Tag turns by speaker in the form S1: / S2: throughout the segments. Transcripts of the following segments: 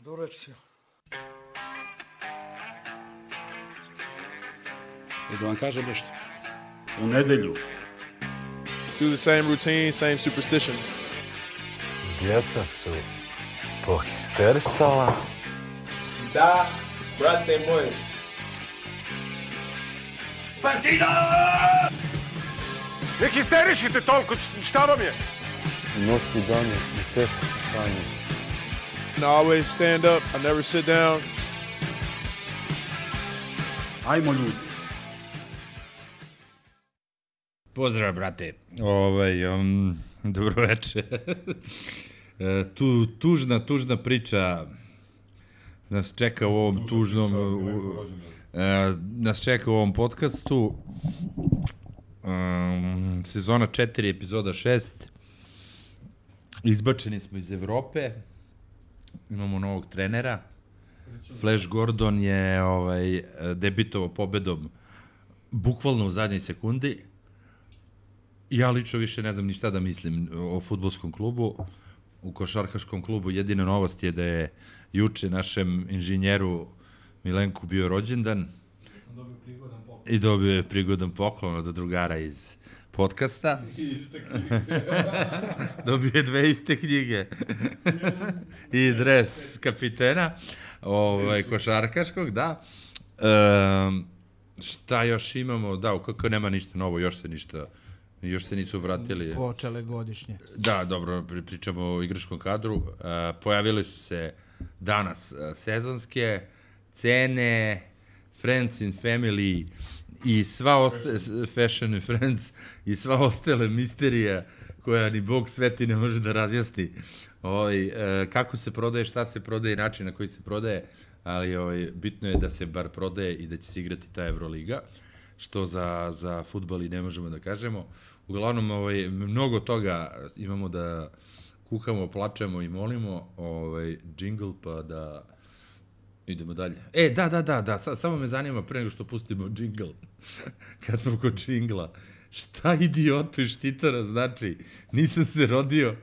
S1: Dobro večer svima. I da vam kažem nešto. U nedelju.
S2: Do the same routine, same superstitions.
S3: Djeca su pohisterisala.
S2: Da, brate moj.
S3: Partida! Ne histerišite toliko, šta vam je?
S4: Noći dane i teško stanje.
S2: I always stand up, I never sit down.
S1: Ajmo ljudi.
S5: Pozdrav, brate. Dobro večer. Tužna priča nas čeka u ovom nas čeka u ovom podcastu. Sezona 4, epizoda 6. Izbačeni smo iz Evrope. Imamo novog trenera. Flash Gordon je debitovao pobedom bukvalno u zadnjoj sekundi. Ja lično više ne znam ni šta da mislim o fudbalskom klubu. U košarkaškom klubu jedina novost je da je juče našem inženjeru Milenku bio rođendan. I dobio je prigodan poklon od drugara iz podcasta. Dobio je 2 iste knjige. I dres kapitena košarkaškog, da. Šta još imamo? Da, kako nema ništa novo, još se nisu vratili.
S6: Počele godišnje.
S5: Da, dobro, pričamo o igračkom kadru. Pojavili su se danas sezonske cene, Friends and Family i sva Fashion and Friends i sva ostale misterija koja ni Bog sveti ne može da razjasni. Kako se prodaje, šta se prodaje, način na koji se prodaje, ali bitno je da se bar prodaje i da će se igrati ta Euroliga, što za fudbal i ne možemo da kažemo. Uglavnom, mnogo toga imamo da kukamo, plačemo i molimo, džingl, pa da idemo dalje. Da, samo me zanima pre nego što pustimo džingl, kad smo kod džingla, šta idiotu i štitara znači? Nisam se rodio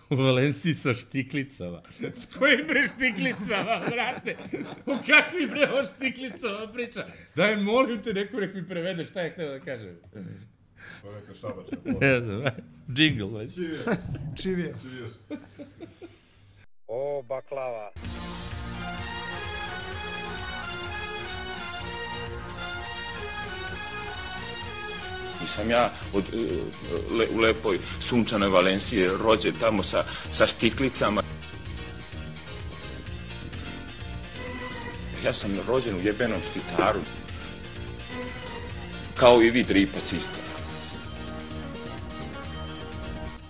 S5: u Valenciji sa štiklicama. S kojim bre štiklicama, brate? U kakvim bre o štiklicama priča? Daj, molim te, nek mi prevede šta je htio da kažem.
S3: To je neka šabačka forma.
S5: Džingl, već.
S6: Čivija.
S3: O, baklava.
S7: Nisam ja u lepoj sunčanoj Valenciji rođen tamo sa štiklicama. Ja sam rođen u jebenom Štitaru. Kao i vi Dripac isto.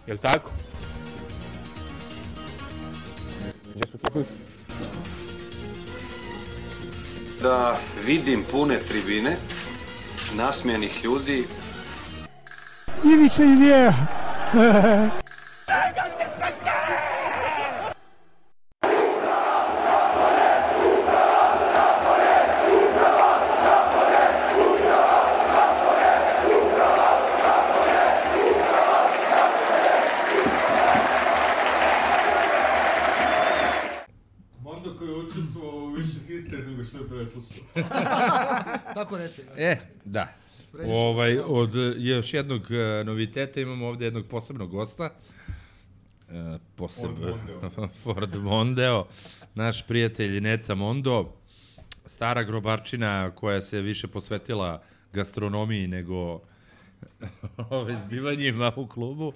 S2: Jel' tako?
S4: Gdje su tehnici?
S8: Da vidim pune tribine, nasmijenih ljudi.
S6: Ivica i Vija.
S3: Mondo koji je učestvovao u više histerije nego što je preslušao.
S6: Tako reci.
S5: Da. Od još jednog noviteta imamo ovde jednog posebnog gosta. Ford Mondeo, naš prijatelj Neca Mondo, stara grobarčina koja se više posvetila gastronomiji nego zbivanjima u klubu.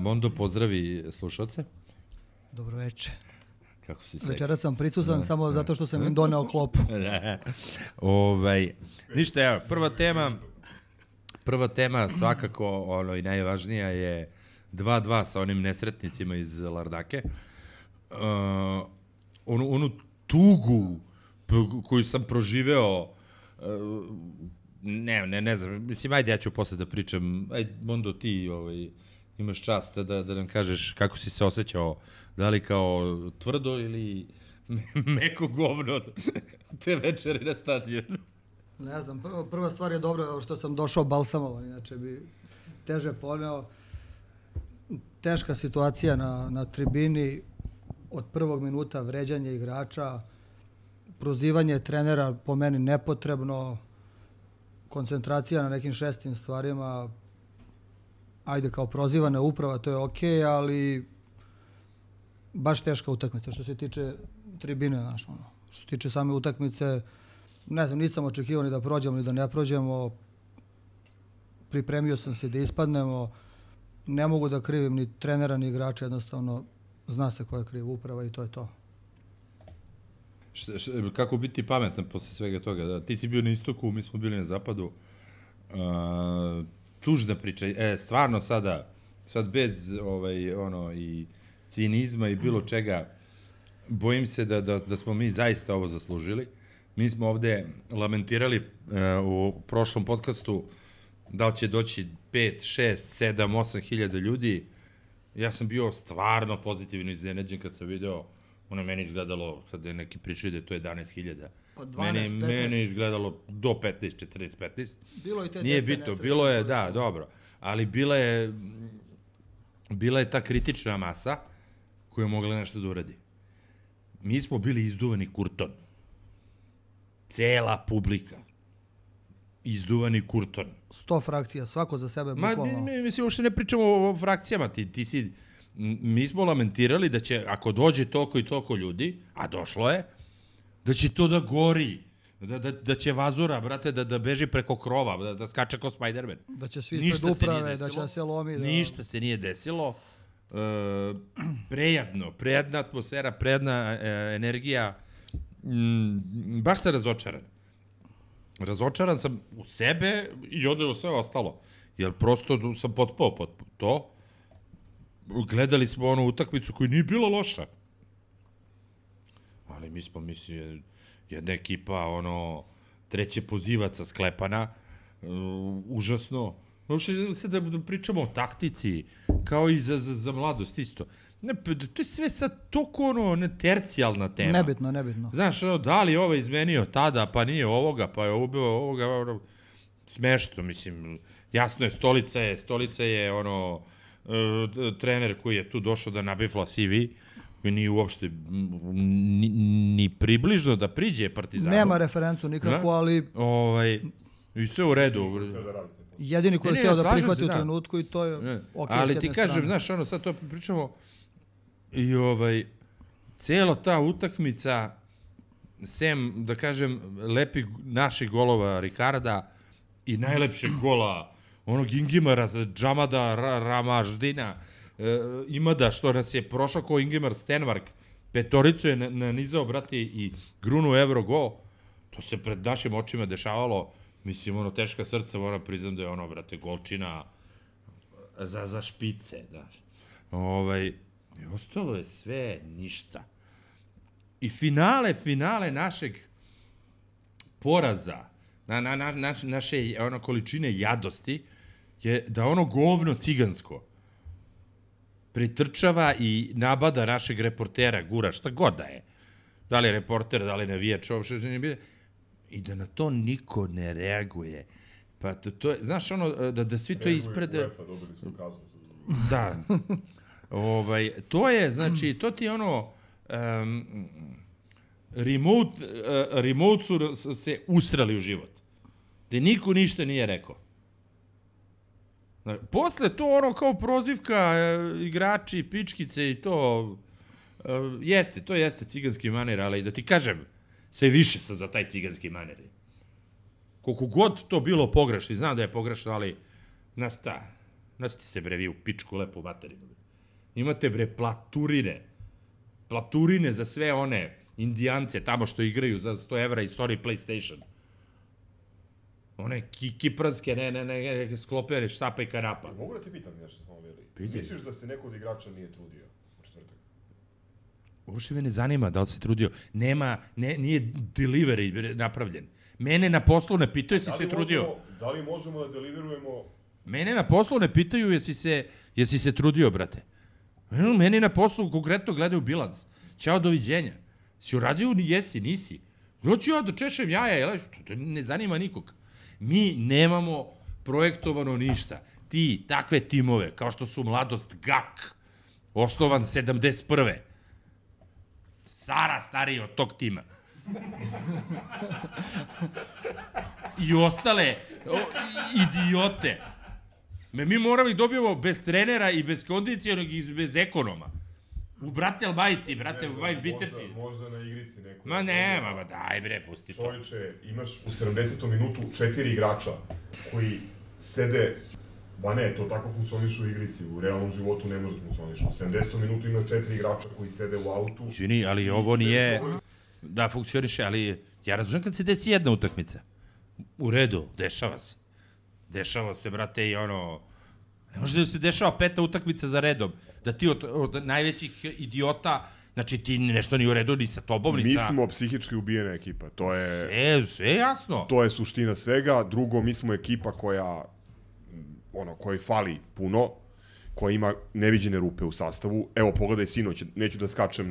S5: Mondo, pozdravi slušalce.
S6: Dobro večer.
S5: Kako si seksi?
S6: Večera sam prisutan samo zato što sam im doneo klopu.
S5: Ništa, evo, prva tema svakako i najvažnija je 2-2 sa onim nesretnicima iz Lardake. Onu tugu koju sam proživeo, ne znam, mislim, ajde ja ću posle da pričam, ajde Mondo ti imaš čast da nam kažeš kako si se osjećao, da li kao tvrdo ili meko govno te večeri na stadionu.
S6: Ne znam, prva stvar je dobro što sam došao balsamovan, inače bi teže poneo. Teška situacija na tribini, od prvog minuta vređanje igrača, prozivanje trenera po meni nepotrebno, koncentracija na nekim šestim stvarima, ajde kao prozivana uprava, to je okej, ali baš teška utakmica što se tiče tribine, znaš, ono. Što se tiče same utakmice, ne znam, nisam očekivao ni da prođemo ni da ne prođemo, pripremio sam se da ispadnemo, ne mogu da krivim ni trenera ni igrača, jednostavno zna se ko je kriv, uprava i to je to.
S5: Kako biti pametan posle svega toga? Da, ti si bio na istoku, mi smo bili na zapadu. Tužna priča. Stvarno sad bez i cinizma i bilo čega, bojim se da smo mi zaista ovo zaslužili. Mi smo ovde lamentirali u prošlom podcastu da li će doći 5, 6, 7, 8 hiljada ljudi. Ja sam bio stvarno pozitivno iznenađen kad sam video, ono meni izgledalo, sad je neki pričaju da je to 11.000.
S6: Pa 12, 15.
S5: Meni izgledalo do 15, 14, 15.
S6: Bilo i te
S5: nije bitno, bilo je, da, dobro. Ali bila je ta kritična masa koja je mogla nešto da uradi. Mi smo bili izduvani kurton. Cela publika. Izduvani kurton.
S6: 100 frakcija, svako za sebe bukvalno.
S5: Mislim, uopšte ne pričamo o frakcijama. Mi smo lamentirali da će, ako dođe toliko i toliko ljudi, a došlo je, da će to da gori, da će vazura, brate, da beži preko krova, da skače kao Spider-Man.
S6: Da će svi ispred uprave, da će se lomi.
S5: Ništa se nije desilo. Prijatna atmosfera, prijatna energija. Baš sam razočaran. Razočaran sam u sebe i onda u sve ostalo. Jer prosto sam potpao pod to. Gledali smo onu utakmicu koja nije bila loša. Ali mi smo, mislim, jedna ekipa, treće pozivaca sklepana, užasno. Možete se da pričamo o taktici, kao i za mladost isto. Ne, to je sve sad toliko tercijalna tema.
S6: Nebitno.
S5: Znaš, da li je ovo izmenio tada, pa nije ovoga, pa je ubio ovoga, smešno, mislim, jasno je, Stolica je trener koji je tu došao da nabifla CV, koji nije uopšte ni približno da priđe Partizanu.
S6: Nema referencu nikako, ali...
S5: I sve u redu.
S6: Jedini koji je htio da prihvati u trenutku i to je okej s jedne strane.
S5: Ali ti kažem, znaš, sad to pričamo i cijela ta utakmica, sem, da kažem, lepih naših golova Ricarda i najlepšeg gola onog Ingimara, Džamada, Ramaždina, Imada, što nas je prošao kao Ingimar Stenmark, petoricu je nanizao, brate, i grunu Evrogol, to se pred našim očima dešavalo, mislim, teška srca, moram priznam da je brate, golčina za špice, znaš. I ostalo je sve ništa. I finale našeg poraza, naše količine jadosti, je da govno cigansko pritrčava i nabada našeg reportera, gura, šta god da je. Da li je reporter, da li navijač, i da na to niko ne reaguje. Pa to je, znaš, da svi to ispred... Da. To je, znači, to ti je remote su se ustrali u život. Da niko ništa nije rekao. Posle to kao prozivka igrači, pičkice i to jeste ciganski maner, ali da ti kažem, sve više sam za taj ciganski maner. Koliko god to bilo pogrešno, znam da je pogrešno, ali nasiti se vi u pičku lepu materinu. Imate platurine za sve one Indijance tamo što igraju za 100 evra i sorry PlayStation. One kipranske, ne, sklopere, štapa i karapa.
S9: Mogu da ti pitam nešto samo, Veli? Misliš da se neko od igrača nije trudio u četvrtak?
S5: Uopšte me ne zanima da li se trudio. Nije delivery napravljen. Mene na poslu ne pitaju jesi se trudio.
S9: Da li možemo da deliverujemo...
S5: Mene na poslu ne pitaju jesi se trudio, brate. Meni na poslu konkretno gledaju bilans. Ćao, doviđenja. Si uradio, jesi, nisi. Hoću ja da češem jaja, to ne zanima nikog. Mi nemamo projektovano ništa. Takve timove, kao što su Mladost GAK, osnovan 71. Sara stariji od tog tima. I ostale idiote. Mi moramo ih dobijemo bez trenera i bez kondicionog i bez ekonoma. U brate Albajici, brate Biterci.
S9: Možda na igrici neko.
S5: Ma nema, ma daj bre, pusti to.
S9: Čovječe, imaš u 70. minutu 4 igrača koji sede, ba ne, to tako funkcioniše u igrici, u realnom životu ne može funkcioniše. U 70. minutu imaš 4 igrača koji sede u autu.
S5: Izvini, ali ovo nije, da funkcioniše, ali ja razumijem kad se desi jedna utakmica. U redu, dešava se. Dešava se, brate, i ono... Ne može da se dešava 5. utakmica za redom. Da ti od najvećih idiota, znači ti nešto nije u redu ni sa tobom, ni sa...
S9: Mi smo psihički ubijena ekipa, to je...
S5: Sve jasno.
S9: To je suština svega. Drugo, mi smo ekipa koja, kojoj fali puno, koja ima neviđene rupe u sastavu. Evo, pogledaj sinoć, neću da skačem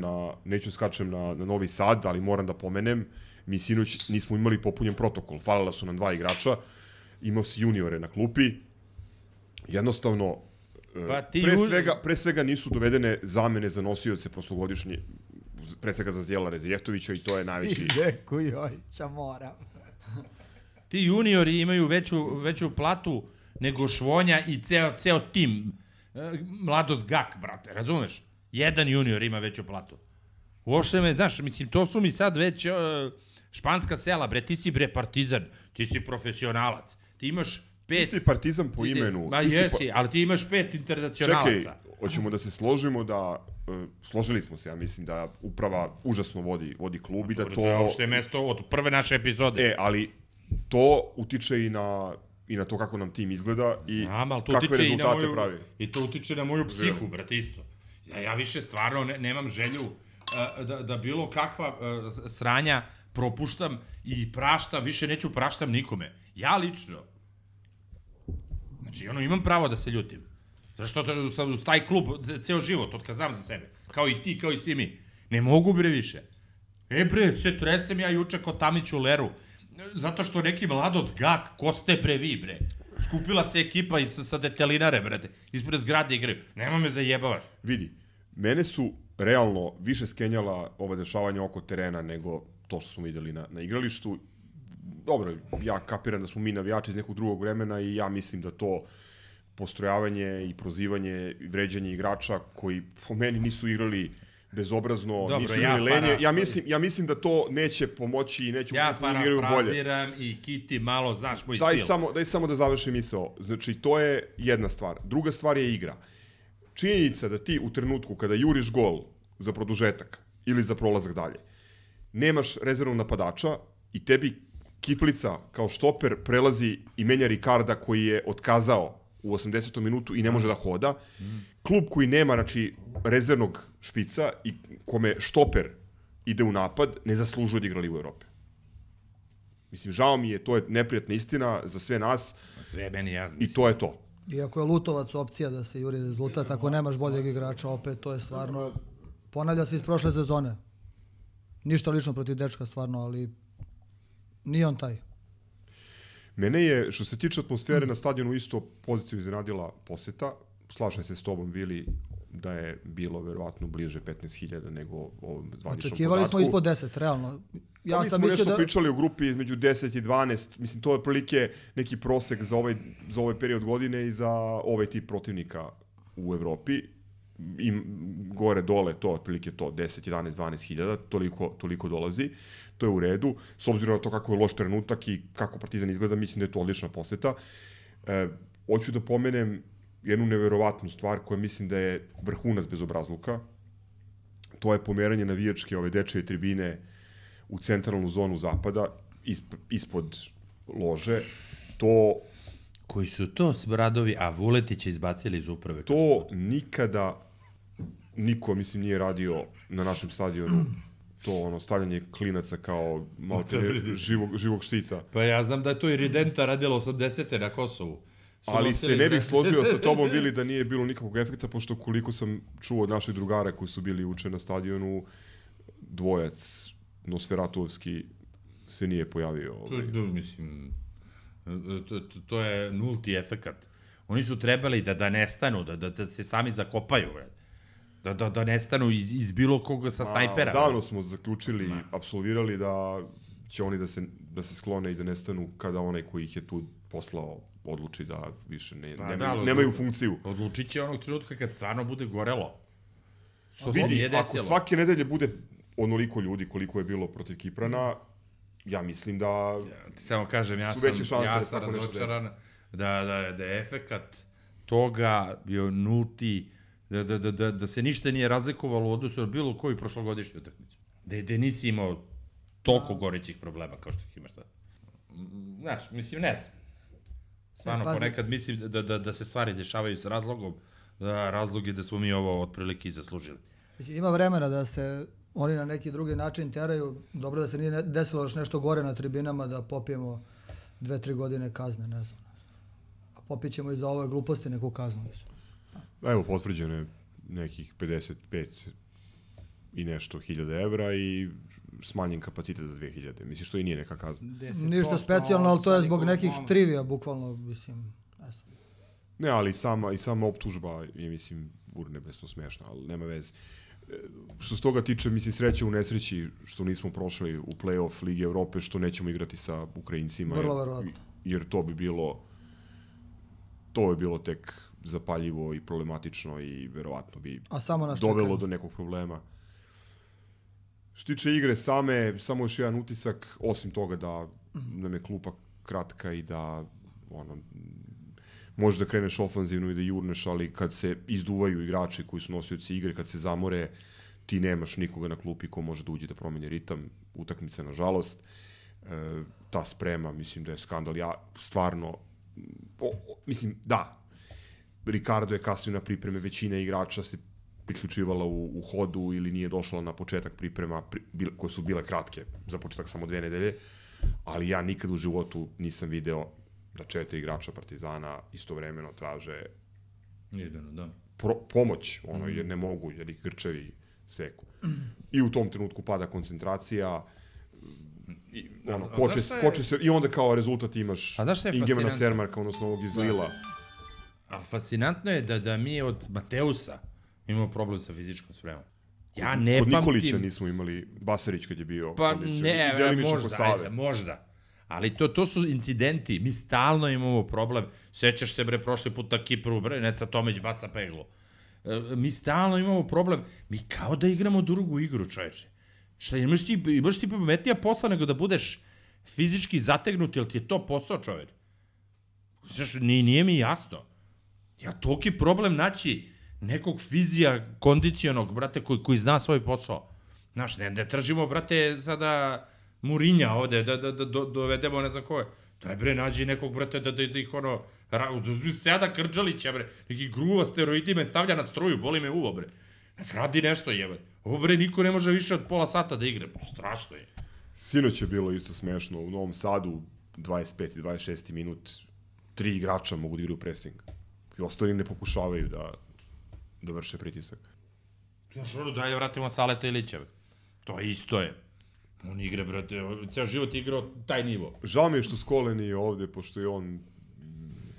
S9: na Novi Sad, ali moram da pomenem, mi sinoć nismo imali popunjen protokol. Falila su nam 2 igrača, imao si juniore na klupi, jednostavno, pre svega nisu dovedene zamene za nosioce prošlogodišnje, pre svega za Zdjela Rezijehtovića i to je najveći...
S6: Zeku Jojića moram.
S5: Ti juniori imaju veću platu nego Švonja i ceo tim. Mladost Gak, brate, razumeš? Jedan junior ima veću platu. Uopšte me, znaš, mislim, to su mi sad već španska sela, bre, ti si, bre, Partizan, ti si profesionalac, ti imaš 5...
S9: Ti si Partizan po imenu.
S5: Ma jesi, ali ti imaš 5 internacionalaca.
S9: Čekaj, hoćemo da se složimo da, složili smo se, ja mislim da uprava užasno vodi klub i da to...
S5: To je uopšte mesto od prve naše epizode.
S9: Ali to utiče i na to kako nam tim izgleda i kakve rezultate pravi.
S5: I to utiče na moju psihu, brate, isto. Ja više stvarno nemam želju da bilo kakva sranja propuštam i praštam, više neću praštam nikome. Ja lično. Znači, imam pravo da se ljutim. Zašto sam u taj klub ceo život, od kad znam za sebe. Kao i ti, kao i svi mi. Ne mogu bre više. Bre, se tresem ja juče kod Tamić u Leru. Zato što neki Mladost Gak, ko ste bre vi, bre? Skupila se ekipa sa detelinare, brate. Ispred zgrade igraju. Nema me zajebavaš.
S9: Vidi, mene su realno više skenjala ova dešavanja oko terena nego to što smo videli na igralištu. Dobro, ja kapiram da smo mi navijači iz nekog drugog vremena i ja mislim da to postrojavanje i prozivanje i vređanje igrača koji po meni nisu igrali bezobrazno, dobro, nisu igrali lenje. Ja mislim da to neće pomoći i neće
S5: da igraju bolje. Ja parafraziram i Kiti malo, znaš moj stil.
S9: Daj samo da završim misao. Znači, to je jedna stvar. Druga stvar je igra. Činjenica da ti u trenutku kada juriš gol za produžetak ili za prolazak dalje, nemaš rezervnog napadača i tebi Kiflica kao štoper prelazi i menja Ricarda koji je otkazao u 80. minutu i ne može da hoda. Klub koji nema, znači, rezervnog špica i kome štoper ide u napad, ne zaslužuje da igra Ligu Evrope. Mislim, žao mi je, to je neprijatna istina za sve nas.
S5: Sve meni jasno.
S9: I to je to.
S6: Iako je Lutovac opcija da se juri rezultat, ako nemaš boljeg igrača, opet to je stvarno... Ponavlja se iz prošle sezone. Ništa lično protiv dečka, stvarno, ali nije on taj.
S9: Mene je, što se tiče atmosfere na stadionu, isto pozitivno iznenadila poseta. Slažem se s tobom, Vili, da je bilo verovatno bliže 15.000 nego ovom zvaničnom podatku.
S6: Očekivali smo ispod 10, realno.
S9: Ja mi smo nešto pričali u grupi između 10 i 12. Mislim, to je otprilike neki prosek za ovaj period godine i za ovaj tip protivnika u Evropi. I gore, dole, to otprilike to, 10, 11, 12.000, toliko dolazi. To je u redu. S obzirom na to kako je loš trenutak i kako Partizan izgleda, mislim da je to odlična poseta. Hoću da pomenem jednu neverovatnu stvar koja mislim da je vrhunac bezobrazluka. To je pomeranje navijačke ove dečje tribine u centralnu zonu zapada, ispod lože. To...
S5: Koji su to Smradovi, a Vuletića izbacili iz uprave?
S9: To nikada niko, mislim, nije radio na našem stadionu. To stavljanje klinaca kao malo živog štita.
S5: Pa ja znam da je to i Ridenta radila 80. na Kosovu.
S9: Ali se ne bih složio sa tobom, Vili, da nije bilo nikakvog efekta, pošto koliko sam čuo od naših drugara koji su bili uče na stadionu, dvojac Nosferatovski se nije pojavio.
S5: Mislim, to je nulti efekat. Oni su trebali da nestanu, da se sami zakopaju. Da nestanu iz bilo koga sa snajpera.
S9: Davno smo zaključili, apsolvirali da će oni da se sklone i da nestanu kada onaj koji ih je tu poslao odluči da više nemaju funkciju.
S5: Odlučit će onog trenutka kad stvarno bude gorelo. Što se
S9: vidi,
S5: nije desilo.
S9: ako svake nedelje bude onoliko ljudi koliko je bilo protiv Kiprana, ja mislim da
S5: samo kažem, ja
S9: su veće šanse
S5: ja
S9: da
S5: sam
S9: tako nešto
S5: razočaran da je efekat toga bio nulti, da se ništa nije razlikovalo u odnosu na bilo koju prošlogodišnju utakmicu. Da nisi imao toliko gorećih problema kao što ih imaš sad. Znaš, mislim, ne znam. Stvarno, ponekad mislim da se stvari dešavaju s razlogom, da razlog je da smo mi ovo otprilike i zaslužili.
S6: Mislim, ima vremena da se oni na neki drugi način teraju. Dobro da se nije desilo još nešto gore na tribinama, da popijemo 2-3 godine kazne, ne znam. A popićemo i za ove gluposti neku kaznu.
S9: Evo, potvrđeno je nekih 55 i nešto hiljada evra i smanjen kapacitet za 2000. Mislim, što i nije neka kazna.
S6: Ništa specijalno, ali to je zbog nekih trivija, bukvalno, mislim.
S9: Ne, ali i sama optužba je, mislim, urnebesno smešna, ali nema veze. Što se toga tiče, mislim, sreće u nesreći što nismo prošli u play-off Lige Evrope, što nećemo igrati sa Ukrajincima.
S6: Vrlo verovatno.
S9: Jer to bi bilo tek zapaljivo i problematično i verovatno bi dovelo do nekog problema. Što tiče igre same, samo još jedan utisak, osim toga da nam je klupa kratka i da možeš da kreneš ofanzivno i da jurneš, ali kad se izduvaju igrači koji su nosioci igre, kad se zamore, ti nemaš nikoga na klupi ko može da uđe da promeni ritam utakmice, nažalost. Ta sprema, mislim da je skandal. Ja stvarno, mislim, da, Ricardo je kasnio na pripreme, većina igrača se priključivala u hodu ili nije došla na početak priprema koje su bile kratke, za početak samo 2 nedelje, ali ja nikad u životu nisam video da 4 igrača Partizana istovremeno traže pomoć, jer ne mogu, jer ih grčevi seku. I u tom trenutku pada koncentracija, koče se, i onda kao rezultat imaš Ingemana Stermarka, odnosno ovog iz Lila.
S5: Ali fascinantno je da mi od Mateusa imamo problem sa fizičkom spremom. Ja ne pamtim...
S9: Kod Nikolića nismo imali, Basarić kad je bio...
S5: Pa ne, možda. Ali to su incidenti. Mi stalno imamo problem. Sećaš se, prošli put na Kipru, Neca Tomić baca peglu. Mi stalno imamo problem. Mi kao da igramo drugu igru, čoveče. Šta, imaš ti pametnija posla nego da budeš fizički zategnut, jel ti je to posao, čoveče? Nije mi jasno. Ja toliki problem naći nekog fizija, kondicionog, brate, koji zna svoj posao. Znaš, ne tražimo, brate, sada Murinja ovde, da dovedemo ne znam koje. Daj, bre, nađi nekog, brate, da ih uzmi Seda Krđalića, bre, neki gruva steroidima stavlja na struju, boli me uvo, bre. Nek radi nešto, jebe. Ovo, bre, niko ne može više od pola sata da igra. Strašno je.
S9: Sinoć je bilo isto smešno. U Novom Sadu, 25. i 26. minut, 3 igrača mogu da igraju pressing. I ostali ne pokušavaju da vrše pritisak.
S5: Daj, vratimo Saleta Ilića. To isto je. On igra, brate, ceo život je igrao taj nivo.
S9: Žao mi je što Skole nije ovde, pošto je on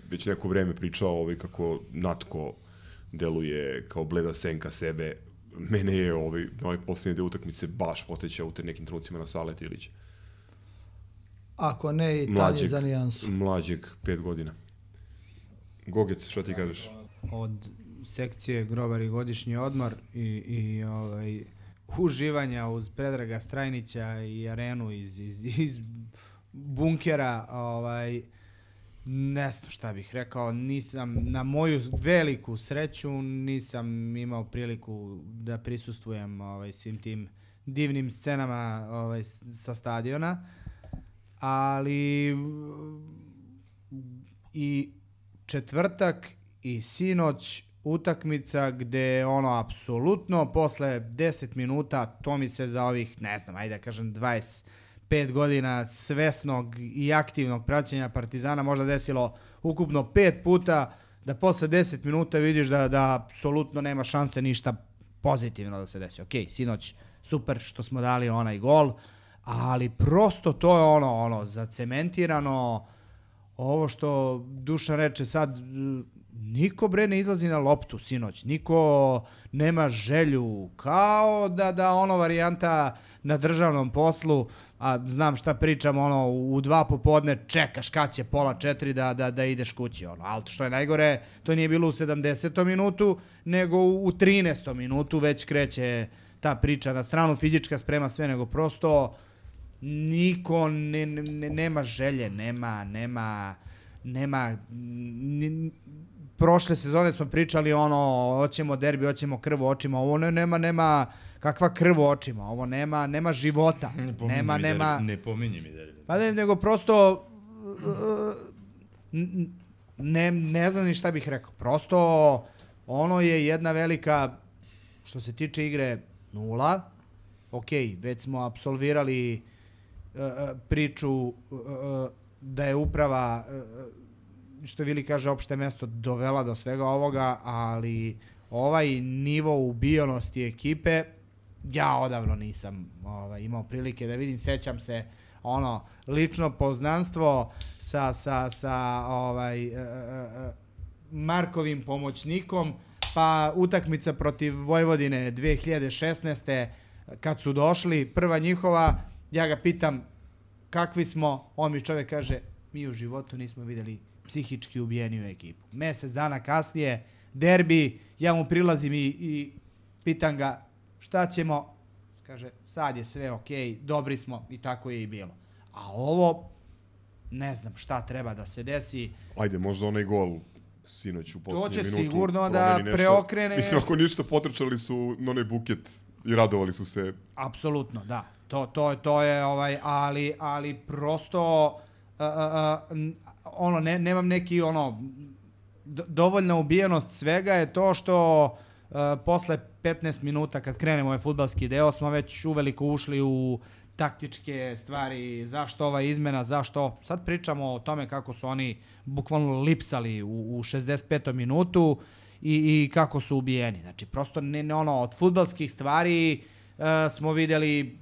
S9: već neko vreme pričao kako Natko deluje kao bleda senka sebe. Mene je na ovaj posljednje deo utakmice baš podsjeća u te nekim trenucima na Saleta Ilića.
S6: Ako ne, i tanje za nijansu.
S9: Mlađeg, 5 godina. Gogec, šta ti kažeš?
S10: Od sekcije Grobar i godišnji odmor i uživanja uz Predraga Strajnića i Arenu iz bunkera, ne znam šta bih rekao, nisam, na moju veliku sreću, nisam imao priliku da prisustvujem svim tim divnim scenama sa stadiona, ali i četvrtak i sinoć utakmica gde apsolutno posle 10 minuta, to mi se za ovih, ne znam, ajde da kažem 25 godina svesnog i aktivnog praćenja Partizana možda desilo ukupno 5 puta, da posle 10 minuta vidiš da apsolutno nema šanse ništa pozitivno da se desi. Ok, sinoć super što smo dali onaj gol, ali prosto to je zacementirano. Ovo što Dušan reče sad, niko bre ne izlazi na loptu sinoć, niko nema želju, kao da ono varijanta na državnom poslu, a znam šta pričam, ono, u 2 popodne čekaš kad će 3:30 da ideš kući, ono, ali što je najgore, to nije bilo u 70. minutu, nego u 13. minutu već kreće ta priča na stranu, fizička sprema, sve, nego prosto niko nema želje, nema prošle sezone smo pričali ono, hoćemo derbi, hoćemo krv u očima, ovo nema kakva krv u očima, ovo nema života.
S5: Ne pominji mi derbi.
S10: Pa nego prosto ne znam ni šta bih rekao. Prosto ono je jedna velika, što se tiče igre, 0. Ok, već smo apsolvirali priču da je uprava, što Vili kaže, opšte mesto dovela do svega ovoga, ali ovaj nivo ubijenosti ekipe, ja odavno nisam imao prilike da vidim. Sećam se ono, lično poznanstvo sa Markovim pomoćnikom, pa utakmica protiv Vojvodine 2016. kad su došli, prva njihova, ja ga pitam kakvi smo, on mi čovjek kaže, mi u životu nismo vidjeli psihički ubijeniju ekipu. Mesec dana kasnije, derbi, ja mu prilazim i pitam ga šta ćemo, kaže sad je sve okej, dobri smo, i tako je i bilo. A ovo, ne znam šta treba da se desi.
S9: Ajde, možda onaj gol sinoć u posljednju minutu.
S10: To će sigurno da preokrene.
S9: Mislim, ako ništa, potrčali su na onaj buket i radovali su se.
S10: Apsolutno, da. To je, ali prosto, ono, nemam neki, ono, dovoljna ubijenost svega je to što posle 15 minuta kad krenemo ovaj fudbalski deo smo već uveliko ušli u taktičke stvari, zašto ova izmena, zašto, sad pričamo o tome kako su oni bukvalno lipsali u 65. minutu i kako su ubijeni. Znači, prosto od fudbalskih stvari smo vidjeli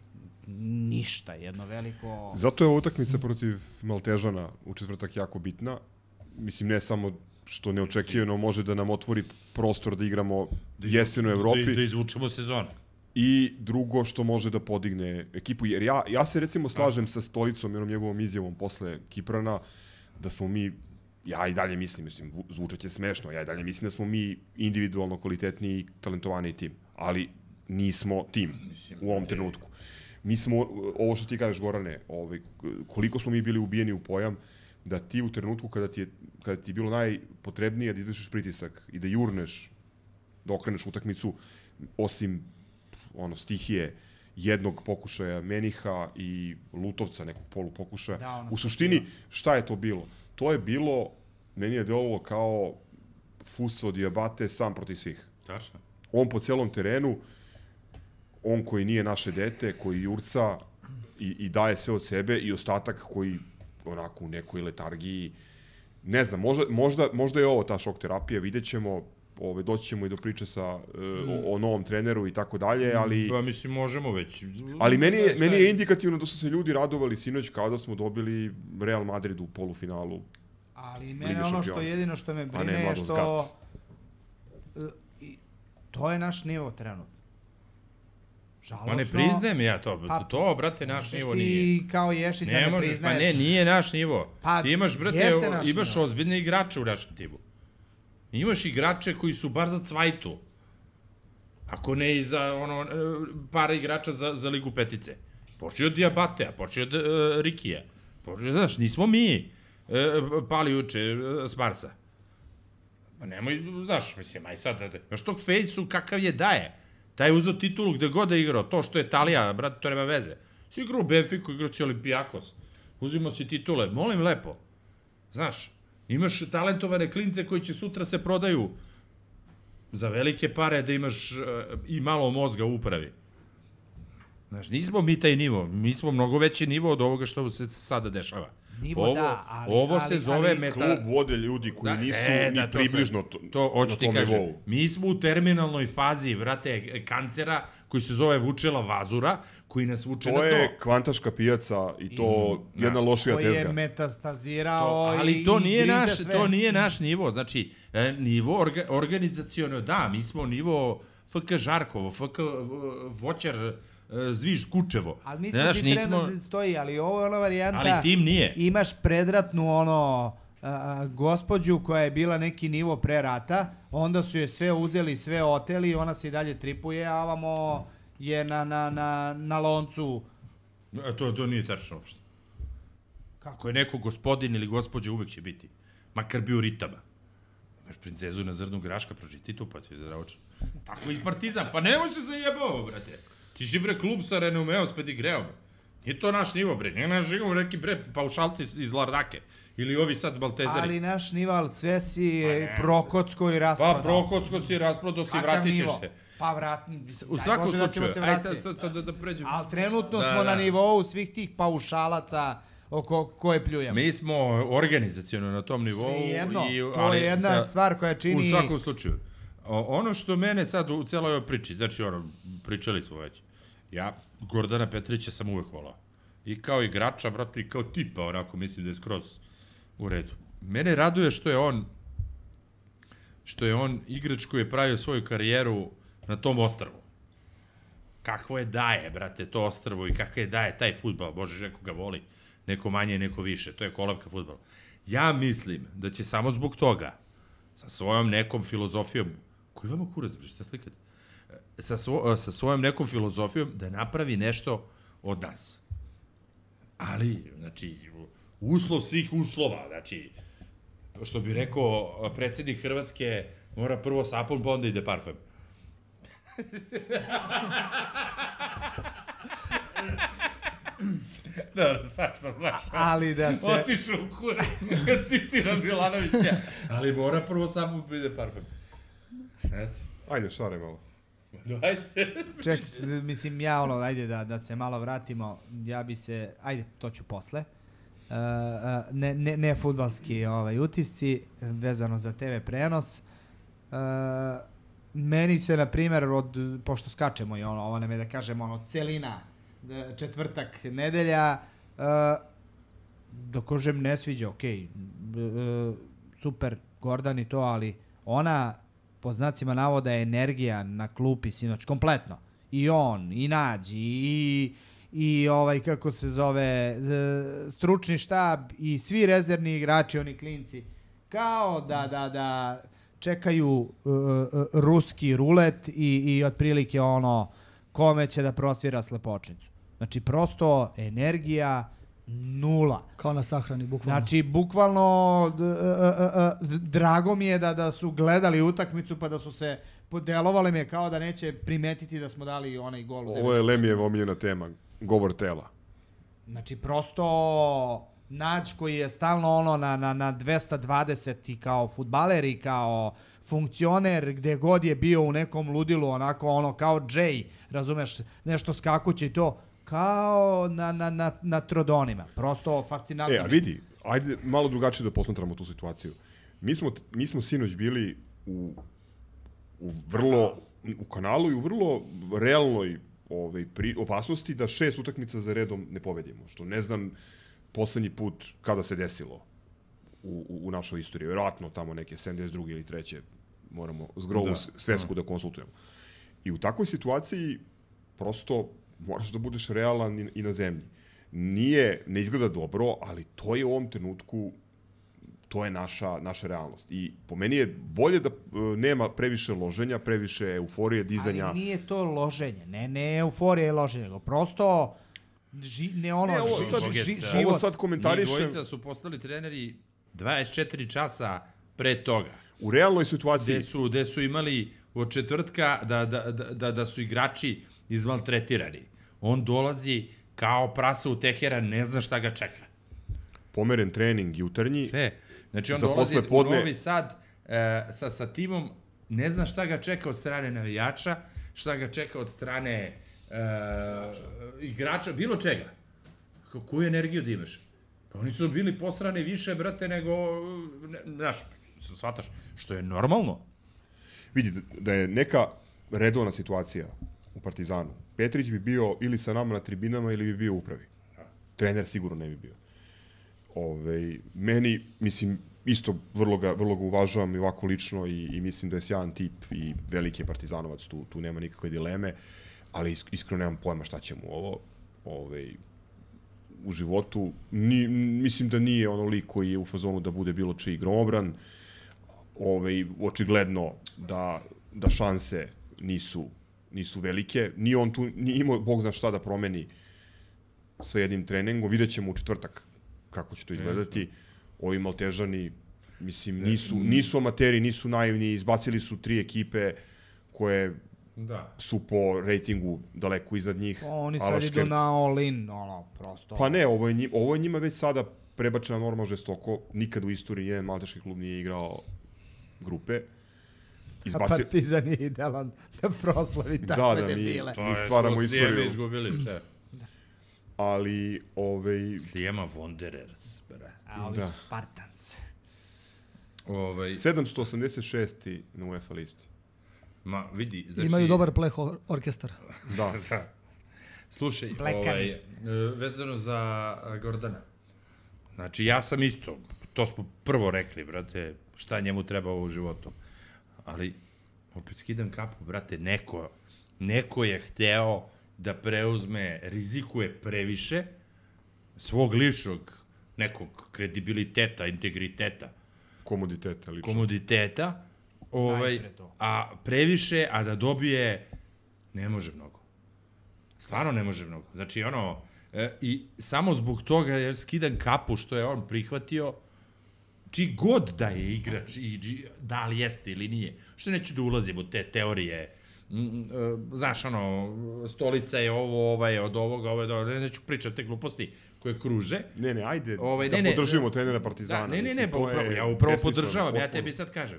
S10: ništa, jedno veliko...
S9: Zato je ova utakmica protiv Maltežana u četvrtak jako bitna. Mislim, ne samo što neočekivano može da nam otvori prostor da igramo jesenu u Evropi.
S5: Da izvučemo sezonu.
S9: I drugo što može da podigne ekipu. Jer ja se recimo slažem sa Stolicom i onom njegovom izjavom posle Kiprana, da smo mi, ja i dalje mislim, zvučat će smešno, ja i dalje mislim da smo mi individualno kvalitetniji i talentovaniji tim. Ali nismo tim u ovom trenutku. Mi smo, ovo što ti kažeš, Gorane, koliko smo mi bili ubijeni u pojam, da ti u trenutku kada ti je bilo najpotrebnije da izvršiš pritisak i da jurneš, da okreneš utakmicu, osim stihije jednog pokušaja Meniha i Lutovca, nekog polupokušaja. U suštini, šta je to bilo? To je bilo, meni je delovalo kao Fuso Diabate sam protiv svih.
S5: Tačno.
S9: On po celom terenu, on koji nije naše dete, koji jurca i daje sve od sebe, i ostatak koji onako u nekoj letargiji, ne znam, možda je ovo ta šok terapija, vidjet ćemo, doći ćemo i do priče o novom treneru i tako dalje, ali...
S5: Pa mislim, možemo već.
S9: Ali meni je indikativno da su se ljudi radovali sinoć kao da smo dobili Real Madrid u polufinalu.
S10: Ali mene jedino što me brine je što... To je naš nivo trenutno.
S5: Ma ne priznajem ja to. To, brate, naš nivo nije.
S10: Ti kao Ješić da ne priznaješ.
S5: Pa ne, nije naš nivo. Ti imaš, brate, imaš ozbiljne igrače u našem timu. Imaš igrače koji su bar za cvajtu. Ako ne i za para igrača za Ligu petice. Počeo od Diabatea, počeo od Rikija. Znaš, nismo mi pali juče s Marsa. Pa nemoj, znaš, mislim, aj sad, znaš tog Fejsu kakav je daje. Taj je uzeo titulu gde god da je igrao, to što je Italija, brate, to nema veze. Si igrao u Benfiku, igrao si Olimpijakos. Uzimo si titule, molim lepo. Znaš, imaš talentovane klince koji će sutra se prodaju za velike pare da imaš i malo mozga u upravi. Znaš, nismo mi taj nivo, mi smo mnogo veći nivo od ovoga što se sada dešava.
S10: Nivo da, ali...
S5: Ovo se zove
S9: klub vode ljudi koji nisu ni približno
S5: to hoću ti kažem.
S9: Nivou.
S5: Mi smo u terminalnoj fazi, vrate, kancera koji se zove Vučela Vazura, koji nas vuče na to.
S9: To je kvantaška pijaca i to jedna lošija tezga.
S10: Koji je metastazirao
S5: ali to nije naš nivo. Znači, nivo organizaciono, da, mi smo nivo FK Žarkovo, FK Voćar, Zviž, Kučevo.
S10: Ali mislim da ti trenutno stoji, ali ovo je ona varijanta...
S5: Ali tim nije.
S10: Imaš predratnu gospođu koja je bila neki nivo pre rata, onda su je sve uzeli, sve oteli, ona se i dalje tripuje, a ovamo je na loncu.
S5: To nije tačno uopšte. Kako je neko gospodin ili gospođa, uvek će biti. Makar bio ritama. Imaš princezu na zrnu graška, pročiti tu, pa ti je zdravočan. Tako i Partizan, pa nemoj se zajebao, brate. Ti si bre klub sa renomeom, s pedigreom. Nije to naš nivo, bre. Nije naš nivo neki bre paušalci iz Lardake. Ili ovi sad Baltezari.
S10: Ali naš nivo, ali sve si Prokocko i rasprodao.
S5: Pa Prokocko si rasprodao, si vratit ćeš se.
S10: Pa vratim.
S5: U svakom slučaju, aj sad da pređemo.
S10: Ali trenutno smo na nivou svih tih paušalaca oko koje pljujemo.
S5: Mi smo organizaciono na tom nivou.
S10: Svijedno, to je jedna stvar koja čini...
S5: U svakom slučaju. Ono što mene sad u celoj ovoj priči, znači pričali smo već, ja Gordana Petrića sam uvek volao. I kao igrača, brate, i kao tipa, onako, mislim da je skroz u redu. Mene raduje što je on igrač koji je pravio svoju karijeru na tom ostrvu. Kakvo je daje, brate, to ostrvo i kako je daje taj fudbal, bože, neko ga voli, neko manje, neko više, to je kolavka fudbala. Ja mislim da će samo zbog toga, sa svojom nekom filozofijom, koji vama kurac, šta slikate? Sa svojom nekom filozofijom da napravi nešto od nas. Ali, znači, uslov svih uslova, znači, što bi rekao predsjednik Hrvatske, mora prvo sapun, pa onda ide parfem. Dobro, sad sam znaš.
S10: Ali da se...
S5: Otišao u kurac, kad citira Milanovića. Ali mora prvo sapun, pa ide parfem. Eto.
S9: Ajde, šare malo.
S5: Ajde.
S10: Ček, mislim, ajde da se malo vratimo, ja bi se, ajde, to ću posle. Ne fudbalski utisci, vezano za TV prenos. Meni se, na primjer, pošto skačemo i ovo nam je da kažemo, celina, četvrtak, nedelja, da kažem ne sviđa, okej, super, Gordan i to, ali ona, po znacima navoda, je energija na klupi sinoć, kompletno. I on, i Nađi, i kako se zove, stručni štab, i svi rezervni igrači, oni klinci, kao da čekaju ruski rulet i otprilike kome će da prosvira slepočnicu. Znači, prosto energija nula.
S6: Kao na sahrani, bukvalno.
S10: Znači, bukvalno, drago mi je da su gledali utakmicu pa da su se podelovali mi je kao da neće primetiti da smo dali onaj gol.
S9: Ovo je Lemijev omiljena tema, govor tela.
S10: Znači, prosto Nađ koji je stalno na 220 i kao fudbaler i kao funkcioner, gde god je bio u nekom ludilu, onako kao Jay, razumeš, nešto skakuće i to, kao na trodonima. Prosto fascinantno.
S9: A vidi, ajde malo drugačije da posmatramo tu situaciju. Mi smo sinoć bili u kanalu i u vrlo realnoj opasnosti da 6 utakmica za redom ne pobedimo. Što ne znam poslednji put kada se desilo u našoj istoriji. Vjerojatno tamo neke 72. ili 3. moramo zgrovu svetsku da konsultujemo. I u takvoj situaciji prosto moraš da budeš realan i na zemlji. Ne izgleda dobro, ali to je u ovom trenutku, to je naša realnost. I po meni je bolje da nema previše loženja, previše euforije, dizanja.
S10: Ali nije to loženje, ne euforija i loženje, nego prosto
S9: Ovo sad komentarišem.
S5: Njih dvojica su postali treneri 24 časa pre toga.
S9: U realnoj situaciji.
S5: Gde su imali od četvrtka da su igrači izmaltretirani. On dolazi kao prasa u Teheran, ne zna šta ga čeka.
S9: Pomeren trening jutarnji.
S5: Sve. Znači on dolazi u Novi Sad sa timom, ne zna šta ga čeka od strane navijača, šta ga čeka od strane igrača, bilo čega. Koju energiju da imaš? Pa oni su bili posrani više, brate, nego, znaš, shvataš, što je normalno.
S9: Vidi, da je neka redovna situacija u Partizanu, Petrić bi bio ili sa nama na tribinama ili bi bio u upravi. Trener sigurno ne bi bio. Meni, mislim, isto vrlo ga uvažavam i ovako lično i mislim da je sjajan tip i veliki je partizanovac, tu nema nikakve dileme, ali iskreno nemam pojma šta će mu ovo u životu. Mislim da nije ono lik koji je u fazonu da bude bilo čiji gromobran. Očigledno da šanse nisu velike. Nije on tu, nije imao Bog zna šta da promeni sa jednim treningom. Vidjet ćemo u četvrtak kako će to izgledati. Ovi Maltežani, mislim, nisu amateri, nisu naivni, izbacili su 3 ekipe koje su po rejtingu daleko iznad njih.
S10: Oni sad idu na all-in, prosto.
S9: Pa ne, ovo je njima već sada prebačena norma žestoko. Nikad u istoriji jedan malteški klub nije igrao grupe.
S10: A Partizan je idealan da proslavi takve debile.
S9: Mi stvaramo istoriju.
S5: Slijeme izgubili, šta?
S9: Ali,
S5: Slijema Wanderers, bra.
S10: A ovi su Spartans.
S9: 786. na UEFA listi.
S5: Ma, vidi, znači...
S6: Imaju dobar pleh orkestar.
S9: Da.
S5: Slušaj, vezano za Gordana. Znači, ja sam isto, to smo prvo rekli, brate, šta njemu treba u životu. Ali, opet skidam kapu, brate, neko je hteo da preuzme, rizikuje previše svog ličnog nekog kredibiliteta, integriteta. Komoditeta. A previše, a da dobije, ne može mnogo. Stvarno ne može mnogo. Znači, i samo zbog toga ja skidam kapu što je on prihvatio, čiji god da je igrač, da li jeste ili nije. Što neću da ulazim u te teorije, znaš, stolica je ovo je od ovoga, ovo je od ovoga, neću pričati te gluposti koje kruže.
S9: Ne, ajde, da podržimo trenera Partizana.
S5: Ne, ja upravo podržavam, ja tebi sad kažem.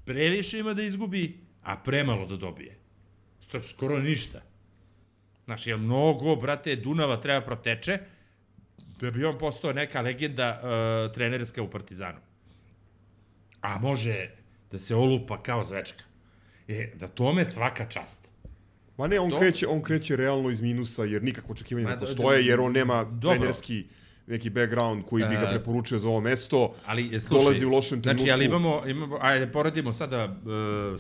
S5: Previše ima da izgubi, a premalo da dobije. Skoro ništa. Znaš, jer mnogo, brate, Dunava treba proteče, da bi on postao neka legenda trenerska u Partizanu. A može da se olupa kao zvečka. Da tome svaka čast.
S9: Ma ne, on kreće realno iz minusa, jer nikakvo očekivanje ne postoje, jer on nema trenerski neki background koji bi ga preporučio za ovo mesto. Dolazi u lošem trenutku.
S5: Znači, ali imamo, ajde, poredimo sada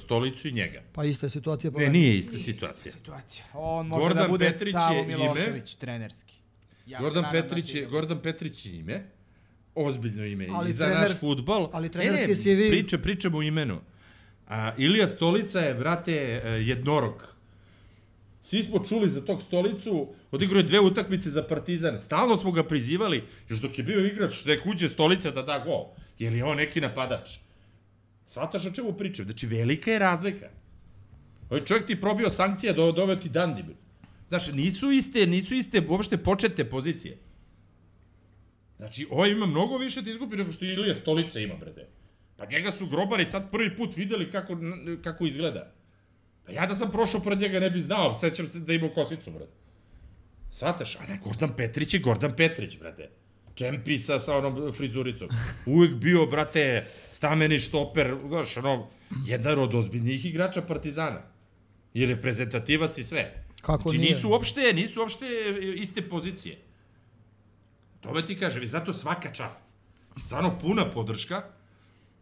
S5: Stolicu i njega.
S6: Pa ista je situacija.
S5: Ne, nije ista situacija.
S10: On može da bude Savo Milošević trenerski.
S5: Gordan Petrić je ime, ozbiljno ime i za naš fudbal.
S6: Ali trenerski si vi...
S5: Pričamo u imenu. Ilija Stolica je, brate, jednorog. Svi smo čuli za tog Stolicu, odigrao je 2 utakmice za Partizan, stalno smo ga prizivali, još dok je bio igrač, nek uđe Stolica da da gol, jer je on neki napadač. Shvataš o čemu pričam? Znači, velika je razlika. Ovaj čovjek ti probio sankcija, doveo ti Dandi. Znači, nisu iste uopšte početne pozicije. Znači, ovaj ima mnogo više da izgubi nego što Ilija Stolica ima, brate. Pa njega su grobari sad prvi put videli kako izgleda. Pa ja da sam prošao pored njega ne bi znao, sećam se da imao kosicu, brate. Shvataš? A ne, Gordan Petrić je Gordan Petrić, brate. Čempi sa onom frizuricom. Uvijek bio, brate, stameni štoper, znaš, jedan od ozbiljnijih igrača Partizana. I reprezentativac i sve.
S6: Kako
S5: znači,
S6: nije?
S5: nisu uopšte iste pozicije. Tome ti kažem, i zato svaka čast. I stvarno puna podrška,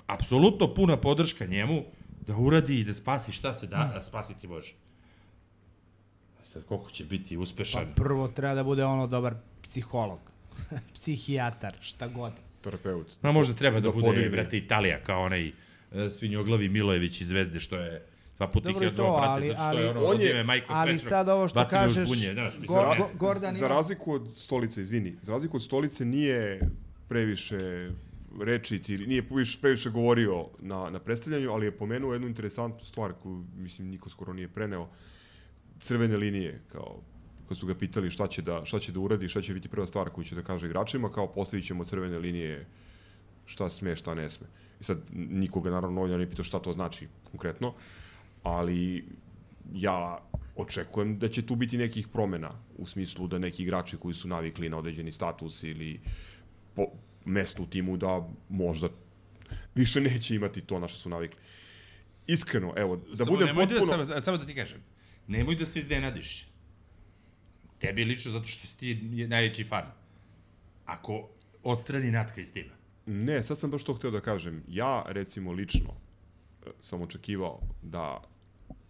S5: apsolutno puna podrška njemu, da uradi i da spasi šta se da spasiti može. Sad, koliko će biti uspešan?
S10: Pa prvo treba da bude dobar psiholog, psihijatar, šta god.
S9: Terapeut.
S5: No, možda treba da bude, brate, Italija, kao onaj svinjoglavi Milojević iz Zvezde, što je 2 puta ih je odvao, brate, zato što je od ime Majko Svečnog.
S10: Ali sad ovo što kažeš,
S9: Gordon za razliku od Stolice, za razliku od Stolice nije previše rečiti, nije previše govorio na predstavljanju, ali je pomenuo jednu interesantnu stvar koju, mislim, niko skoro nije preneo. Crvene linije, kao kad su ga pitali šta će da uradi, šta će biti prva stvar koju će da kaže igračima, kao postavit ćemo crvene linije, šta sme, šta ne sme. I sad nikoga naravno ovdje ne pitao šta to znači konkretno, ali ja očekujem da će tu biti nekih promena u smislu da neki igrači koji su navikli na određeni status ili mesto u timu da možda više neće imati to na što su navikli. Iskreno, evo, da budem potpuno...
S5: Samo da ti kažem, nemoj da se iznenadiš. Tebi lično zato što si ti najveći fan. Ako odstrani Natka iz tima.
S9: Ne, sad sam baš to hteo da kažem. Ja, recimo, lično sam očekivao da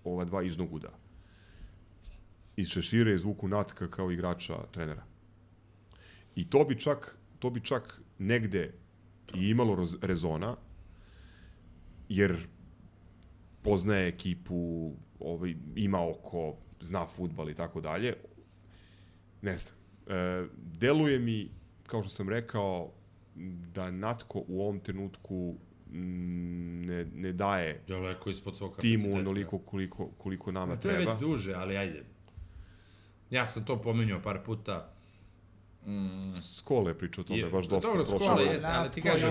S9: ova dva iznoguda iz šešira izvuku Natka kao igrača trenera. I to bi čak negde i imalo rezona, jer poznaje ekipu, ima oko, zna fudbal i tako dalje. Ne znam. Deluje mi, kao što sam rekao, da Natko u ovom trenutku ne daje timu onoliko koliko nama treba.
S5: To je već duže, ali ajde. Ja sam to pominjao par puta.
S9: Skole je pričao o tome, baš dosta.
S5: Dobro, Skole jeste, ali ti kažem,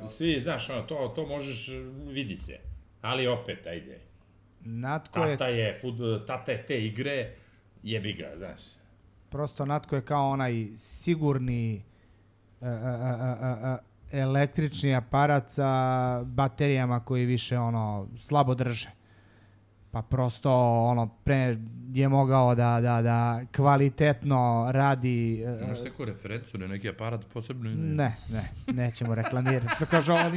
S5: svi, znaš, to možeš, vidi se. Ali opet, ajde. Tata je te igre, jebi ga, znaš.
S10: Prosto Natko je kao onaj sigurni električni aparat sa baterijama koji više slabo drže. Pa prosto pre je mogao da kvalitetno radi...
S5: Imaš neku referencu na neki aparat posebno?
S10: Ne, nećemo reklamirati. Što kaže, ovo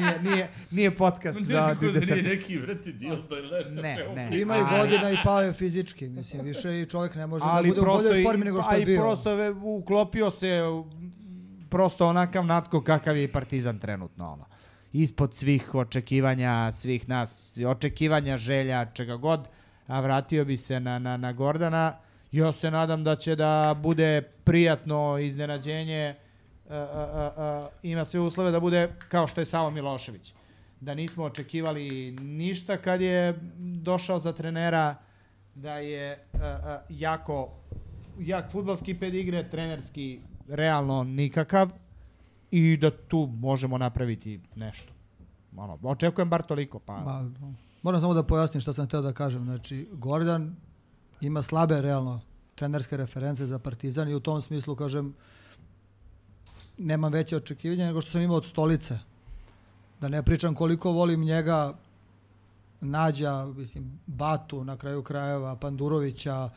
S10: nije podcast za...
S5: Nije neki vrati dildo ili nešto.
S10: Ne.
S6: Ima i godina i pao je fizički. Mislim, više i čovjek ne može da bude u boljoj formi nego što je bio.
S10: Ali prosto je uklopio se prosto onakav Natko kakav je i Partizan trenutno. Ispod svih očekivanja, svih nas, očekivanja, želja, čega god, a vratio bi se na Gordana. Ja se nadam da će da bude prijatno iznenađenje, ima sve uslove da bude kao što je Savo Milošević. Da nismo očekivali ništa kad je došao za trenera, da je jak fudbalski pedigre, trenerski realno nikakav, i da tu možemo napraviti nešto. Očekujem bar toliko.
S6: Moram samo da pojasnim što sam hteo da kažem. Znači, Gordan ima slabe, realno, trenerske reference za Partizan i u tom smislu, kažem, nemam veće očekivanja nego što sam imao od Stolice. Da ne pričam koliko volim njega, Nađa, mislim, Batu, na kraju krajeva, Pandurovića,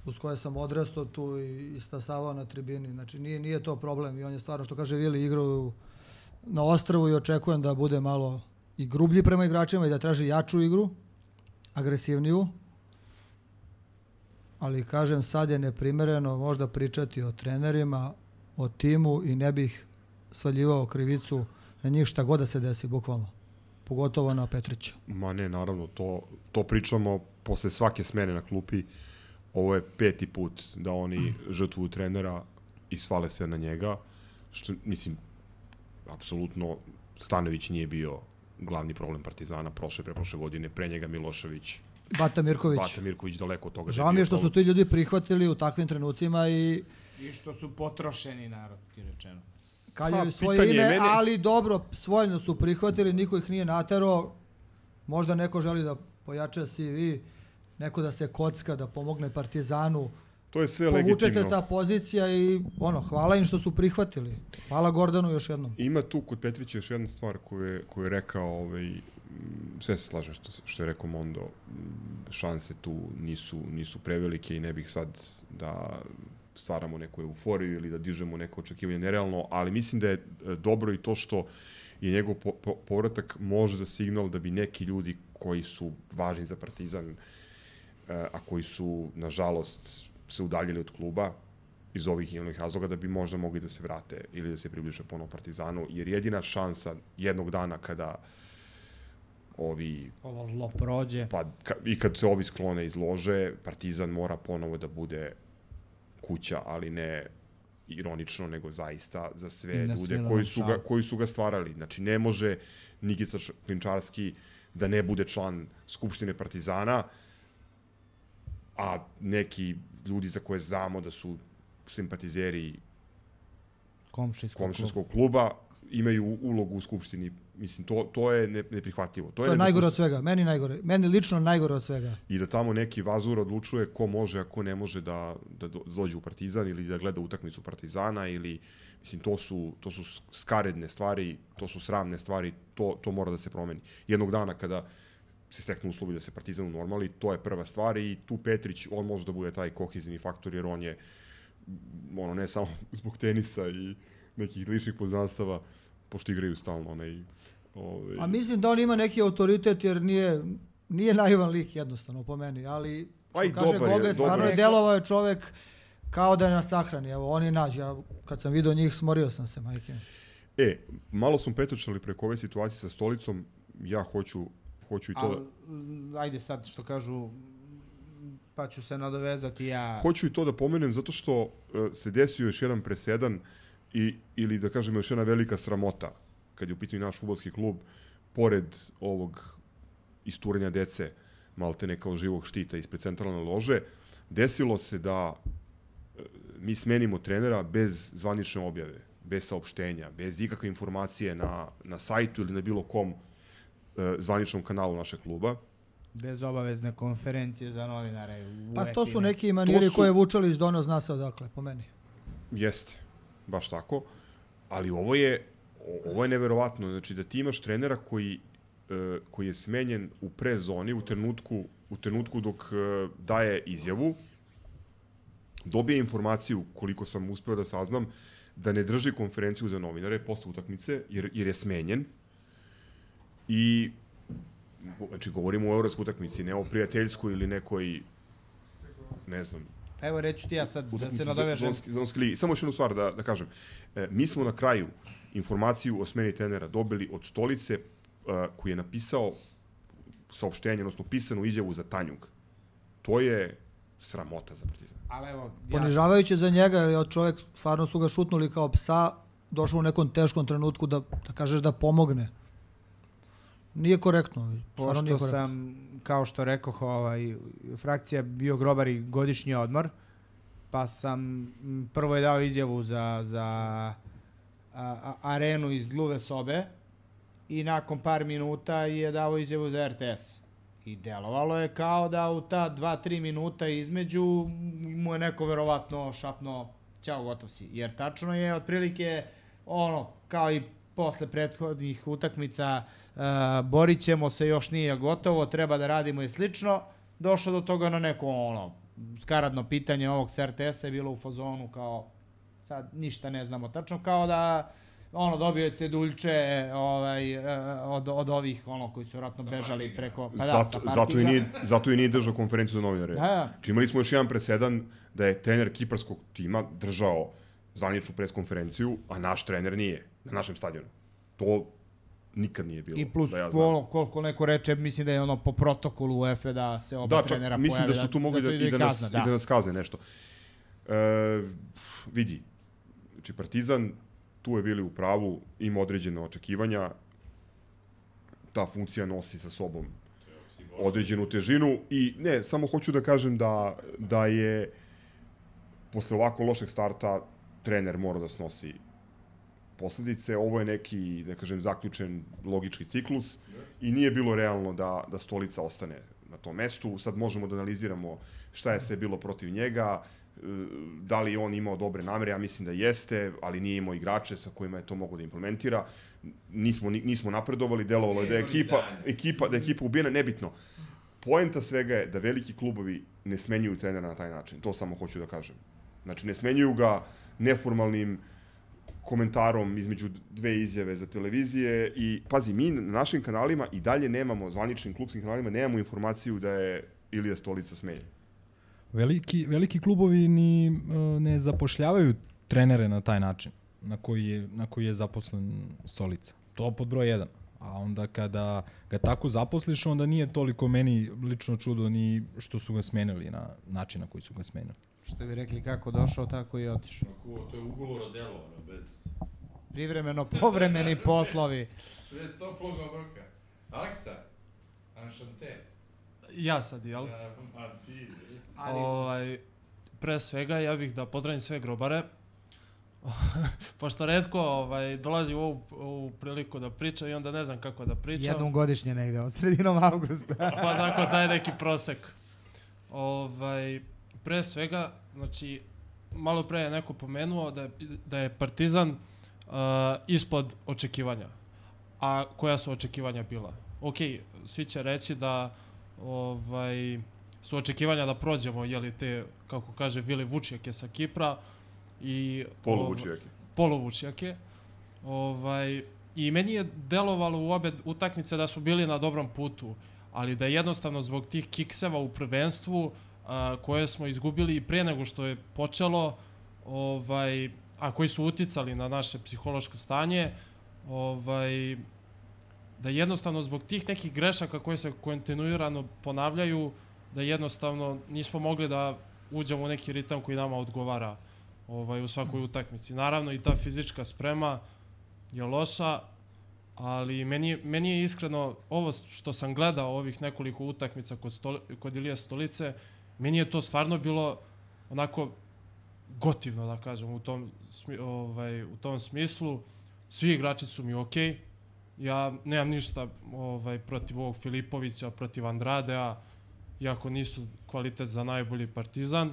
S6: uz koje sam odrastao tu i stasavao na tribini. Znači, nije to problem i on je stvarno, što kaže Vili, igrao na Ostrvu i očekujem da bude malo i grublji prema igračima i da traži jaču igru, agresivniju. Ali, kažem, sad je neprimereno možda pričati o trenerima, o timu i ne bih svaljivao krivicu na njih šta god da se desi, bukvalno. Pogotovo na Petrića.
S9: Ma ne, naravno, to pričamo posle svake smene na klupi. Ovo je 5. put da oni žrtvuju trenera i svale se na njega. Što, mislim, apsolutno Stanović nije bio glavni problem Partizana preprošle godine, pre njega Milošević.
S6: Bata
S9: Mirković daleko od toga.
S6: Žao mi je što su ti ljudi prihvatili u takvim trenucima i
S10: što su potrošeni, narodski rečeno.
S6: Kaljaju svoje ime, ali dobro, svojno su prihvatili, niko ih nije naterao. Možda neko želi da pojača CV, neko da se kocka, da pomogne Partizanu.
S9: To je sve legitimno.
S6: Povučete ta pozicija i hvala im što su prihvatili. Hvala Gordanu još jednom.
S9: Ima tu kod Petrića još jedna stvar koju je rekao, sve se slažem što je rekao Mondo, šanse tu nisu prevelike i ne bih sad da stvaramo neku euforiju ili da dižemo neko očekivanje nerealno, ali mislim da je dobro i to što je njegov povratak možda signal da bi neki ljudi koji su važni za Partizan, a koji su, nažalost, se udaljili od kluba iz ovih i onih razloga, da bi možda mogli da se vrate ili da se približe ponovo Partizanu, jer jedina šansa jednog dana kada
S10: ovo zlo prođe,
S9: i kad se ovi sklone izlože, Partizan mora ponovo da bude kuća, ali ne ironično, nego zaista za sve ljude koji su ga stvarali. Znači, ne može Nikica Klinčarski da ne bude član Skupštine Partizana, a neki ljudi za koje znamo da su simpatizeri komšinskog kluba imaju ulogu u Skupštini. Mislim, to je neprihvatljivo.
S6: To je najgore od svega, meni lično najgore od svega.
S9: I da tamo neki vazur odlučuje ko može, a ko ne može da dođe u Partizan ili da gleda utakmicu Partizana ili, mislim, to su skaredne stvari, to su sramne stvari, to mora da se promeni. Jednog dana kada se steknu uslovi da se Partizan unormali, to je prva stvar i tu Petrić, on može da bude taj kohezivni faktor, jer on je, ne samo zbog tenisa i nekih ličnih poznanstava, pošto igraju stalno.
S6: A mislim da on ima neki autoritet, jer nije naivan lik jednostavno po meni, ali što kaže Goga, stvarno je delovao je čovek kao da je na sahrani. Evo, on je nađe. Ja, kad sam vidio njih, smorio sam se, majke.
S9: Malo smo petočali preko ove situacije sa Stolicom. Ja hoću i to
S10: ajde sad što kažu, pa ću se nadovezati ja.
S9: Hoću i to da pomenem zato što se desio još jedan presedan ili da kažem još jedna velika sramota kad je u pitanju naš fudbalski klub, pored ovog isturenja dece maltene kao živog štita ispred centralne lože, desilo se da mi smenimo trenera bez zvanične objave, bez saopštenja, bez ikakve informacije na sajtu ili na bilo kom zvaničnom kanalu našeg kluba.
S10: Bez obavezne konferencije za novinare.
S6: Pa to su neki maniri koje Vučelić doneo, zna se odakle, po meni.
S9: Jeste, baš tako. Ali ovo je neverovatno. Znači da ti imaš trenera koji je smenjen u prezoni, u trenutku dok daje izjavu, dobije informaciju, koliko sam uspeo da saznam, da ne drži konferenciju za novinare posle utakmice, jer je smenjen. I, znači, govorimo o evropskoj utakmici, ne o prijateljskoj ili nekoj, ne znam.
S10: Evo, reću ti ja sad da se nadovežem.
S9: Samo još jednu stvar da kažem. Mi smo na kraju informaciju o smeni trenera dobili od Stolice koji je napisao saopštenje, odnosno pisanu izjavu za Tanjug. To je sramota za Partizan.
S6: Ponižavajuće za njega, jer čovjek stvarno su ga šutnuli kao psa, došao u nekom teškom trenutku da kažeš da pomogne. Nije korektno.
S10: Pošto sam, kao što rekoh, frakcija bio grobar i godišnji odmor, pa sam prvo je dao izjavu za arenu iz Dluve sobe i nakon par minuta je dao izjavu za RTS. I delovalo je kao da u ta 2-3 minuta između mu je neko verovatno šapno ćao, gotov si. Jer tačno je otprilike kao i posle prethodnih utakmica, borit ćemo se, još nije gotovo, treba da radimo i slično. Došlo do toga na neko skaradno pitanje ovog s RTS-a je bilo u fazonu kao sad ništa ne znamo tačno, kao da dobio je ceduljče od ovih koji su vratno bežali preko...
S9: Zato i nije držao konferenciju za novinare. Imali smo još jedan presedan da je trener kiparskog tima držao zvaničnu preskonferenciju, a naš trener nije na našem stadionu. To nikad nije bilo.
S10: I plus, koliko neko reče, mislim da je po protokolu UEFA da se oba trenera pojave.
S9: Mislim da su tu mogli i da nas kazne nešto. Vidi, znači Partizan tu je bili u pravu, ima određene očekivanja, ta funkcija nosi sa sobom određenu težinu i ne, samo hoću da kažem da je posle ovako lošeg starta trener mora da snosi posledice. Ovo je neki, da kažem, zaključen logički ciklus i nije bilo realno da Stolica ostane na tom mestu. Sad možemo da analiziramo šta je sve bilo protiv njega, da li on imao dobre namere, ja mislim da jeste, ali nije imao igrače sa kojima je to mogo da implementira. Nismo napredovali, delovalo je da je ekipa ubijena, nebitno. Poenta svega je da veliki klubovi ne smenjuju trenera na taj način, to samo hoću da kažem. Znači, ne smenjuju ga neformalnim komentarom između dve izjave za televizije i, pazi, mi na našim kanalima i dalje nemamo, zvaničnim klubskim kanalima, nemamo informaciju da je Ilija Stolica smenjen.
S11: Veliki klubovi ni ne zapošljavaju trenere na taj način na koji je zaposlen Stolica. To pod broj 1. A onda kada ga tako zaposliš, onda nije toliko meni lično čudo ni što su ga smenili na način na koji su ga smenili.
S10: Što bi rekli, kako došao, tako i otišao.
S5: To je ugovor o delu, bez...
S10: Privremeno povremeni poslovi.
S5: Bez toplog obroka. Aleksa, Anšante.
S12: Ja sad, jel?
S5: A ti...
S12: Pre svega, ja bih da pozdravim sve grobare. pošto redko dolazi u ovu priliku da pričam i onda ne znam kako da pričam.
S10: Jednom godišnje negde, od sredinom avgusta.
S12: Pa tako, daj neki prosek. Pre svega, znači, malo pre je neko pomenuo da je Partizan ispod očekivanja. A koja su očekivanja bila? Ok, svi će reći da su očekivanja da prođemo, jeli te, kako kaže Vili, vučjake sa Kipra i poluvučjake. I meni je delovalo u obe utakmice da smo bili na dobrom putu, ali da jednostavno zbog tih kikseva u prvenstvu koje smo izgubili i pre nego što je počelo, a koji su uticali na naše psihološko stanje, da jednostavno zbog tih nekih grešaka koje se kontinuirano ponavljaju, da jednostavno nismo mogli da uđemo u neki ritam koji nama odgovara u svakoj utakmici. Naravno i ta fizička sprema je loša, ali meni je iskreno, ovo što sam gledao ovih nekoliko utakmica kod Ilije Stolice, meni je to stvarno bilo onako gotivno, da kažem, u tom smislu. Svi igrači su mi okej. Ja nemam ništa protiv ovog Filipovića, protiv Andradea, iako nisu kvalitet za najbolji Partizan,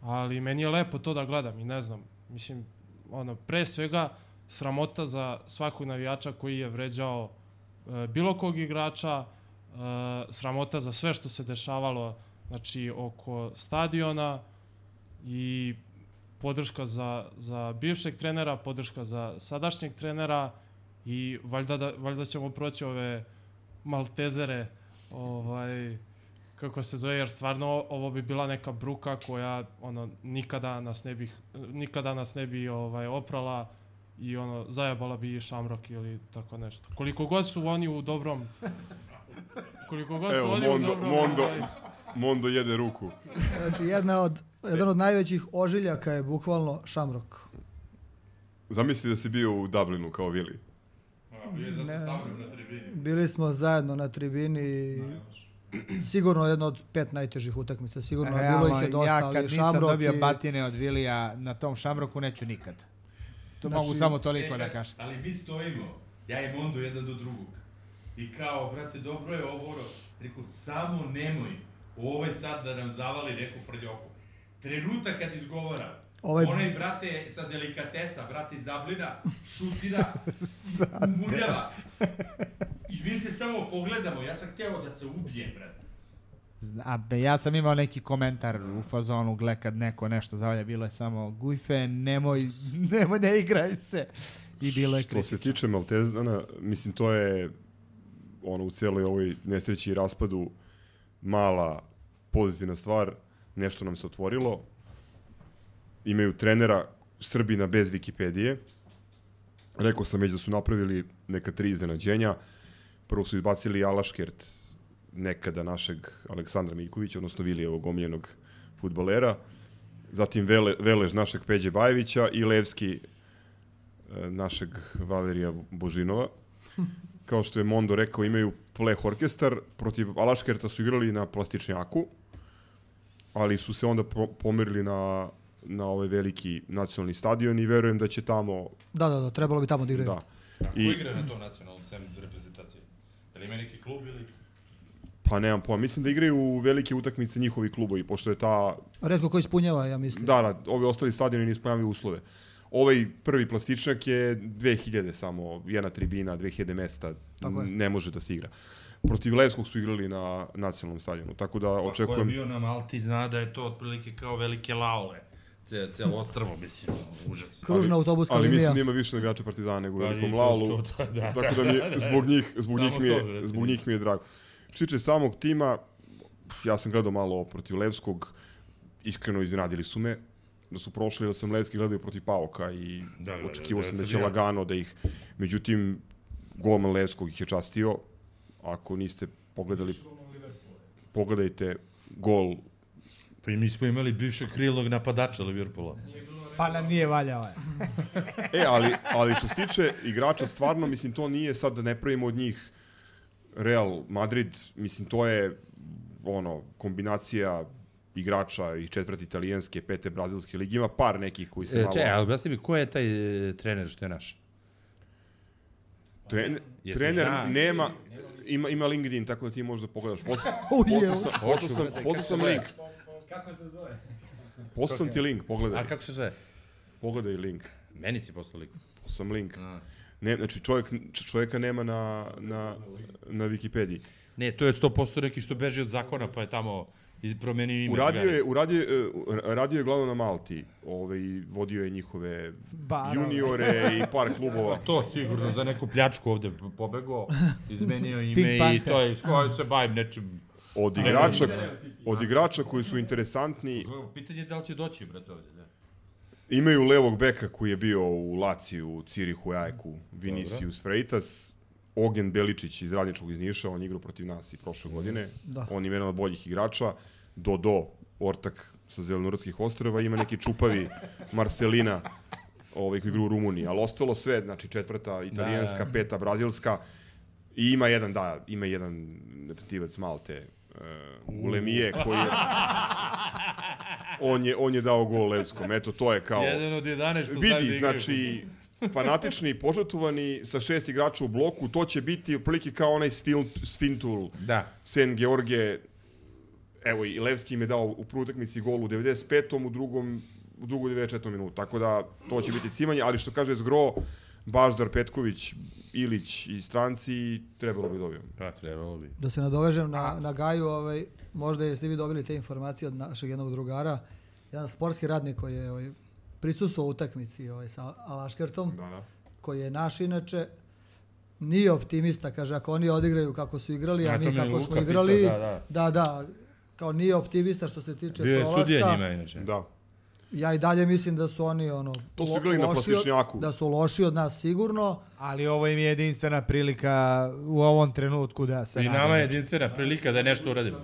S12: ali meni je lepo to da gledam i ne znam, mislim, pre svega sramota za svakog navijača koji je vređao bilo kog igrača, sramota za sve što se dešavalo, znači, oko stadiona i podrška za bivšeg trenera, podrška za sadašnjeg trenera i valjda ćemo proći ove Maltezere, kako se zove, jer stvarno ovo bi bila neka bruka koja nikada nas ne bi oprala i zajebala bi Shamrock ili tako nešto. Koliko god su oni u dobrom...
S9: Mondo jede ruku.
S6: Znači, jedan od najvećih ožiljaka je bukvalno Shamrock.
S9: Zamisli da si bio u Dublinu kao Vili.
S6: Bili smo zajedno na tribini. Sigurno jedno od 5 najtežih utakmica. Sigurno bilo ih je dosta, ali
S10: Shamrock... Ja kad nisam dobio batine od Vilija na tom Shamrocku, neću nikad. To mogu samo toliko da kažem.
S5: Ali mi stojimo, ja i Mondo jedan do drugog. I kao, brate, dobro je ovo, rekao, samo nemoj ovaj sad da nam zavali neku frljoku. Trenutak kad izgovara, onaj, brate, sa delikatesa, brate iz Dublina, šutira i muljava. I mi se samo pogledamo, ja sam htjeo da se ubijem, brate.
S10: Ja sam imao neki komentar u fazonu, gle kad neko nešto zavalja, bilo je samo Gujfe, nemoj, ne igraj se. I bilo je kritično.
S9: Što se tiče Maltezana, mislim, to je u cijeloj ovoj nesreći i raspadu mala pozitivna stvar, nešto nam se otvorilo. Imaju trenera Srbina bez Wikipedije. Rekao sam već da su napravili neka 3 iznenađenja. Prvo su izbacili Alaškert, nekada našeg Aleksandra Miljkovića, odnosno Vilijevog omiljenog fudbalera. Zatim Velež našeg Peđe Bajevića i Levski našeg Valerija Božinova. Kao što je Mondo rekao, imaju pleh orkestar. Protiv Alaškerta su igrali na plastičnjaku, ali su se onda pomerili na ovaj veliki nacionalni stadion i verujem da će tamo...
S6: Da, trebalo bi tamo da igraju.
S5: Ko igra na tom nacionalnom reprezentaciji? Da li ima neki klub ili...
S9: Pa nemam pojma, mislim da igraju u velike utakmice njihovi klubovi, pošto je ta...
S6: Retko ko ispunjava, ja mislim.
S9: Da, ovi ostali stadioni ne ispunjavaju uslove. Ovaj prvi plastičnjak je 2000 samo, jedna tribina, 2000 mesta, ne može da se igra. Protiv Levskog su igrali na nacionalnom stadionu, tako da očekujem...
S5: Ko je bio na Malti zna da je to otprilike kao velike laole. Cijelo ostrvo, mislim, užas.
S6: Kružna autobuska linija.
S9: Ali mislim da ima više igrača Partizana nego u velikom laolu, tako da zbog njih mi je drago. Što se tiče samog tima, ja sam gledao malo protiv Levskog, iskreno iznenadili su me, da su prošli, da sam Levski gledao protiv Pauka i očekivao sam da će lagano da ih... Međutim, golman Levskog ih je častio. Ako niste pogledali, pogledajte gol.
S5: Pa i mi smo imali bivšeg krilnog napadača Liverpoola.
S10: Pa nam nije valjao.
S9: Ali što se tiče igrača, stvarno, mislim, to nije sad da ne pravimo od njih Real Madrid, mislim, to je kombinacija igrača i 4. italijanske, 5. brazilske lige. Ima par nekih koji se malo...
S5: Ali objasni mi, ko je taj trener što je naš?
S9: Trener nema... Ima LinkedIn, tako da ti možeš da pogledaš. Poslao sam link.
S11: Kako se zove?
S9: Poslao sam ti link, pogledaj.
S5: A kako se zove?
S9: Pogledaj link.
S5: Meni si poslao link.
S9: Poslao sam link. Ne, znači čovjeka nema na Wikipediji.
S5: Ne, to je 100% neki što beži od zakona, pa je tamo promenio ime.
S9: Radio je glavno na Malti. Vodio je njihove juniore i par klubova.
S5: To sigurno za neku pljačku ovde pobegao, izmenio ime i to je, s kojoj se bavim nečim.
S9: Od igrača koji su interesantni...
S5: Pitanje je da li će doći, brate, ovde, da.
S9: Imaju levog beka koji je bio u Laciju, Cirihu, Ajku, Vinicius Freitas, Ogen Beličić iz Radničkog iz Niša, on igrao protiv nas i prošle godine. On je jedan od boljih igrača. Dodo, ortak sa Zelenorodskih ostrava, ima neki čupavi Marcelina koji igra u Rumuniji, ali ostalo sve, znači 4. italijanska, 5. brazilska i ima jedan reprezentativac Malte, Ulemije, koji je... On je dao gol Levskom, eto to je kao...
S5: Jedan od 11 što
S9: vidi, znači, fanatični, požrtvovani sa 6 igrača u bloku, to će biti otprilike kao onaj Sfintul, Sen George, evo i Levski im je dao u prvoj utakmici gol u 95. u drugoj 94. minutu, tako da to će biti cimanje, ali što kaže Zgro, Baždar, Petković, Ilić i stranci, trebalo bi dobijemo.
S5: Pa, trebalo bi.
S6: Da se nadovežem na Gaju, možda jeste vi dobili te informacije od našeg jednog drugara, jedan sportski radnik koji je prisustvovao utakmici sa Alaškertom, koji je naš inače, nije optimista, kaže, ako oni odigraju kako su igrali, a mi kako smo igrali, kao nije optimista što se tiče prolaska.
S5: Bio je sudija njima inače.
S9: Da.
S6: Ja i dalje mislim da su oni
S9: to su igrali na plastičnjaku.
S6: Da su loši od nas sigurno.
S10: Ali ovo im je jedinstvena prilika u ovom trenutku da se...
S5: I nama je jedinstvena prilika da nešto uradimo.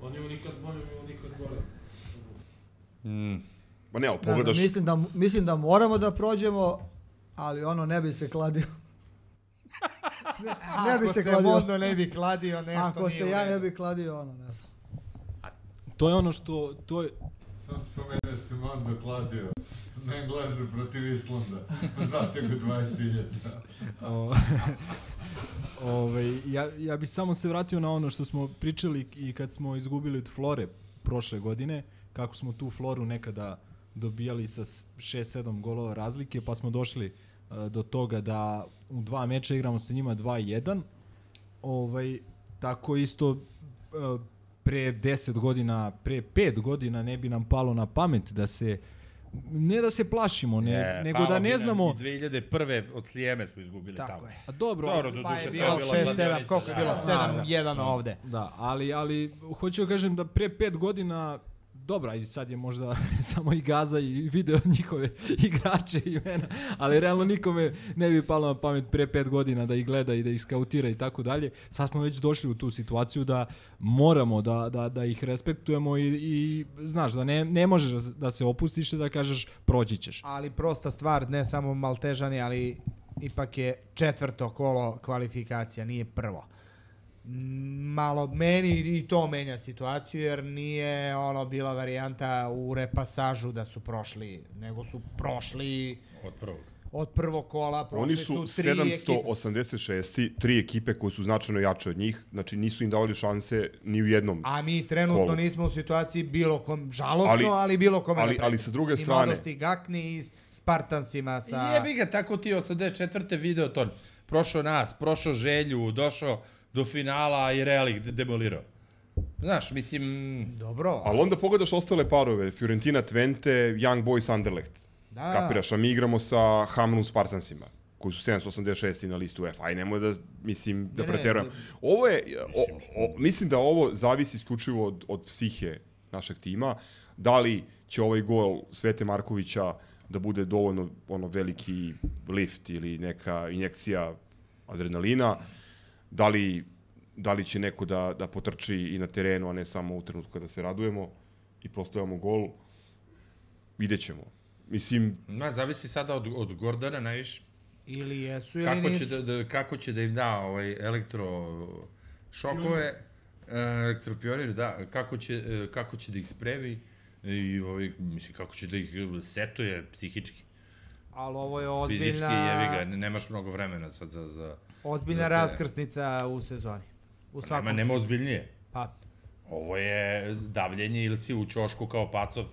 S12: Oni mu nikad bolje, mi nikad gore.
S9: Ma ne, pogledaš...
S6: Mislim da moramo da prođemo, ali ne bi se kladio.
S10: Ako se modno ne bi kladio, nešto
S6: ako se ja ne bi kladio, ne znam.
S11: To je ono što...
S3: Sam spomenuo se Mondo kladio na Englezu protiv Islanda, zatego 20.000.
S11: Ja bih samo se vratio na ono što smo pričali i kad smo izgubili od Flore prošle godine, kako smo tu Floru nekada dobijali sa 6-7 golova razlike, pa smo došli do toga da u 2 meča igramo sa njima 2-1. Tako isto pre 10 godina, pre 5 godina ne bi nam palo na pamet da se, ne da se plašimo, nego da ne znamo...
S5: 2001. od Slijeme smo izgubili tamo.
S10: Tako je.
S11: A dobro,
S10: pa je bilo 6-7, koliko je bilo? 7-1 ovde.
S11: Da, ali hoću da kažem da pre 5 godina, dobra, i sad je možda samo i Gaza i video njihove igrače i imena, ali realno nikome ne bi palo na pamet pre 5 godina da ih gleda i da ih skautira i tako dalje. Sad smo već došli u tu situaciju da moramo da ih respektujemo i znaš, da ne možeš da se opustiš i da kažeš proći ćeš.
S10: Ali prosta stvar, ne samo Maltežani, ali ipak je 4. kolo kvalifikacija, nije prvo. Malo meni i to menja situaciju, jer nije bila varijanta u repasažu da su prošli, nego su prošli od prvog kola.
S9: Oni su 786. 3 ekipe koje su značajno jače od njih, znači nisu im davali šanse ni u jednom kolu.
S10: A mi trenutno nismo u situaciji bilo kom, žalostno, ali bilo kome
S9: ali sa druge strane...
S10: I Mladosti Gakni i Spartansima sa...
S5: Jebi ga, tako ti 84. video to. Prošao nas, prošao Želju, došao do finala i Real ih demolirao. Znaš, mislim...
S10: Dobro.
S9: Ali onda pogledaš ostale parove, Fiorentina Twente, Young Boys Anderlecht.
S10: Da.
S9: Kapiraš, a mi igramo sa Hamrun Spartansima, koji su 786. na listu UEFA. Aj, nemoj da, da preterujem. Ovo je, mislim da ovo zavisi isključivo od psihe našeg tima. Da li će ovaj gol Svete Markovića da bude dovoljno veliki lift ili neka injekcija adrenalina, da li će neko da potrči i na terenu, a ne samo u trenutku kada se radujemo i proslavljamo gol, vidjet ćemo. Mislim...
S5: Zavisi sada od Gordana najviše.
S10: Ili jesu ili nisu.
S5: Kako će da im da elektrošokove, Elektropioner, da, kako će da ih spremi i mislim, kako će da ih setuje psihički.
S10: Ali ovo je ozbiljna...
S5: Fizički, jevi ga, nemaš mnogo vremena sad za
S10: ozbiljna raskrsnica u sezoni. U svakom
S5: nema ozbiljnije.
S10: Pa.
S5: Ovo je davljenje ili si u ćošku kao pacov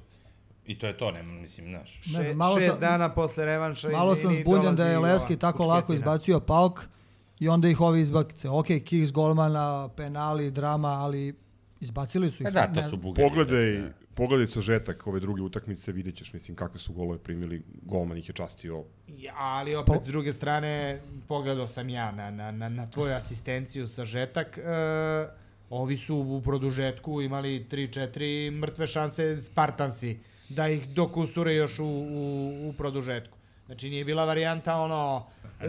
S5: i to je to, nema, mislim, znaš.
S10: 6 dana posle revanša
S6: malo sam zbunjen da je Levski tako lako izbacio Pauk i onda ih ovi izbacice. Ok, kiks golmana, penali, drama, ali izbacili su ih.
S5: Da, to su bugari.
S9: Pogledaj sažetak ove druge utakmice, vidjet ćeš, mislim, kakve su golove primili, golman ih je častio.
S10: Ali opet, s druge strane, pogledao sam ja na tvoju asistenciju sažetak, ovi su u produžetku imali 3-4 mrtve šanse Spartansi, da ih dokusure još u produžetku. Znači, nije bila varijanta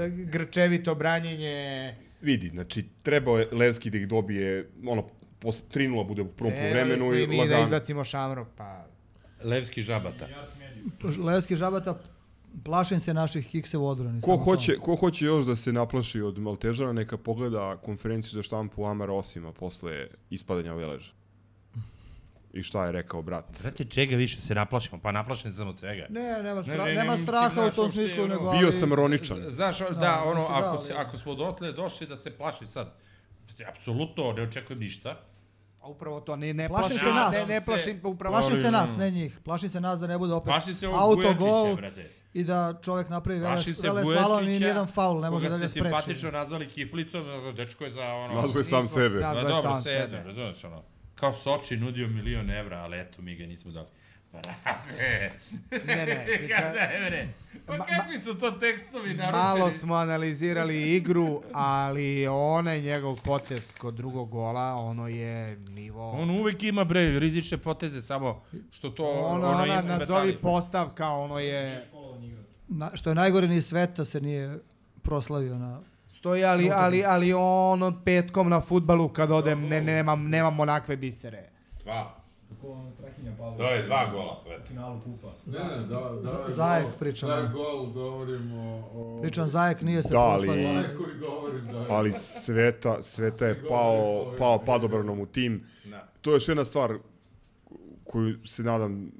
S10: grčevito branjenje.
S9: Vidi, znači, trebao je Levski da ih dobije, posle 3-0 bude u prvom vremenu i
S10: mi da izbacimo Šamrok, pa...
S5: Levski žabata.
S6: Levski žabata, plašim se naših kikse u odbrani.
S9: Ko hoće još da se naplaši od Maltežana, neka pogleda konferenciju za štampu Amara Osima posle ispadanja Veleža. I šta je rekao brat?
S5: Brate, čega više se naplašimo? Pa naplašen sam od svega.
S6: Nema straha u tom smislu, nego...
S9: Bio sam ironičan.
S5: Znaš, ako smo dotle došli da se plaši sad, apsolutno ne očekujem ništa.
S10: A upravo to, ne
S6: plašim se nas. Plašim se nas, ne njih. Plašim se nas da ne bude opet autogol i da čovjek napravi vele slalom i nijedan faul ne može da ga spreči.
S5: Koga ste simpatično nazvali kiflicom, dečko je za
S9: Nazvaj sam sebe.
S5: Dobro, sve jedno, razumeš Kao Soči nudio €1.000.000, ali eto, mi ga nismo dali. Pa kakvi su to tekstovi naručeni?
S10: Malo smo analizirali igru, ali onaj njegov potez kod drugog gola, ono je nivo...
S5: On uvek ima, rizične poteze, samo što to...
S10: Ona nazovi postavka, ono je...
S6: Što je najgore, ni Sveta se nije proslavio na...
S10: Stoji, ali ono petkom na fudbalu kad odem, nemam onakve bisere.
S5: 2. To je 2 gola, to je.
S11: Finalu kupa.
S6: Zajek pričamo.
S3: Da, gol govorimo o...
S6: Pričam, Zajek nije se proslavio.
S9: Ali Sveta je pao padobranom u tim. To je još jedna stvar koju se nadam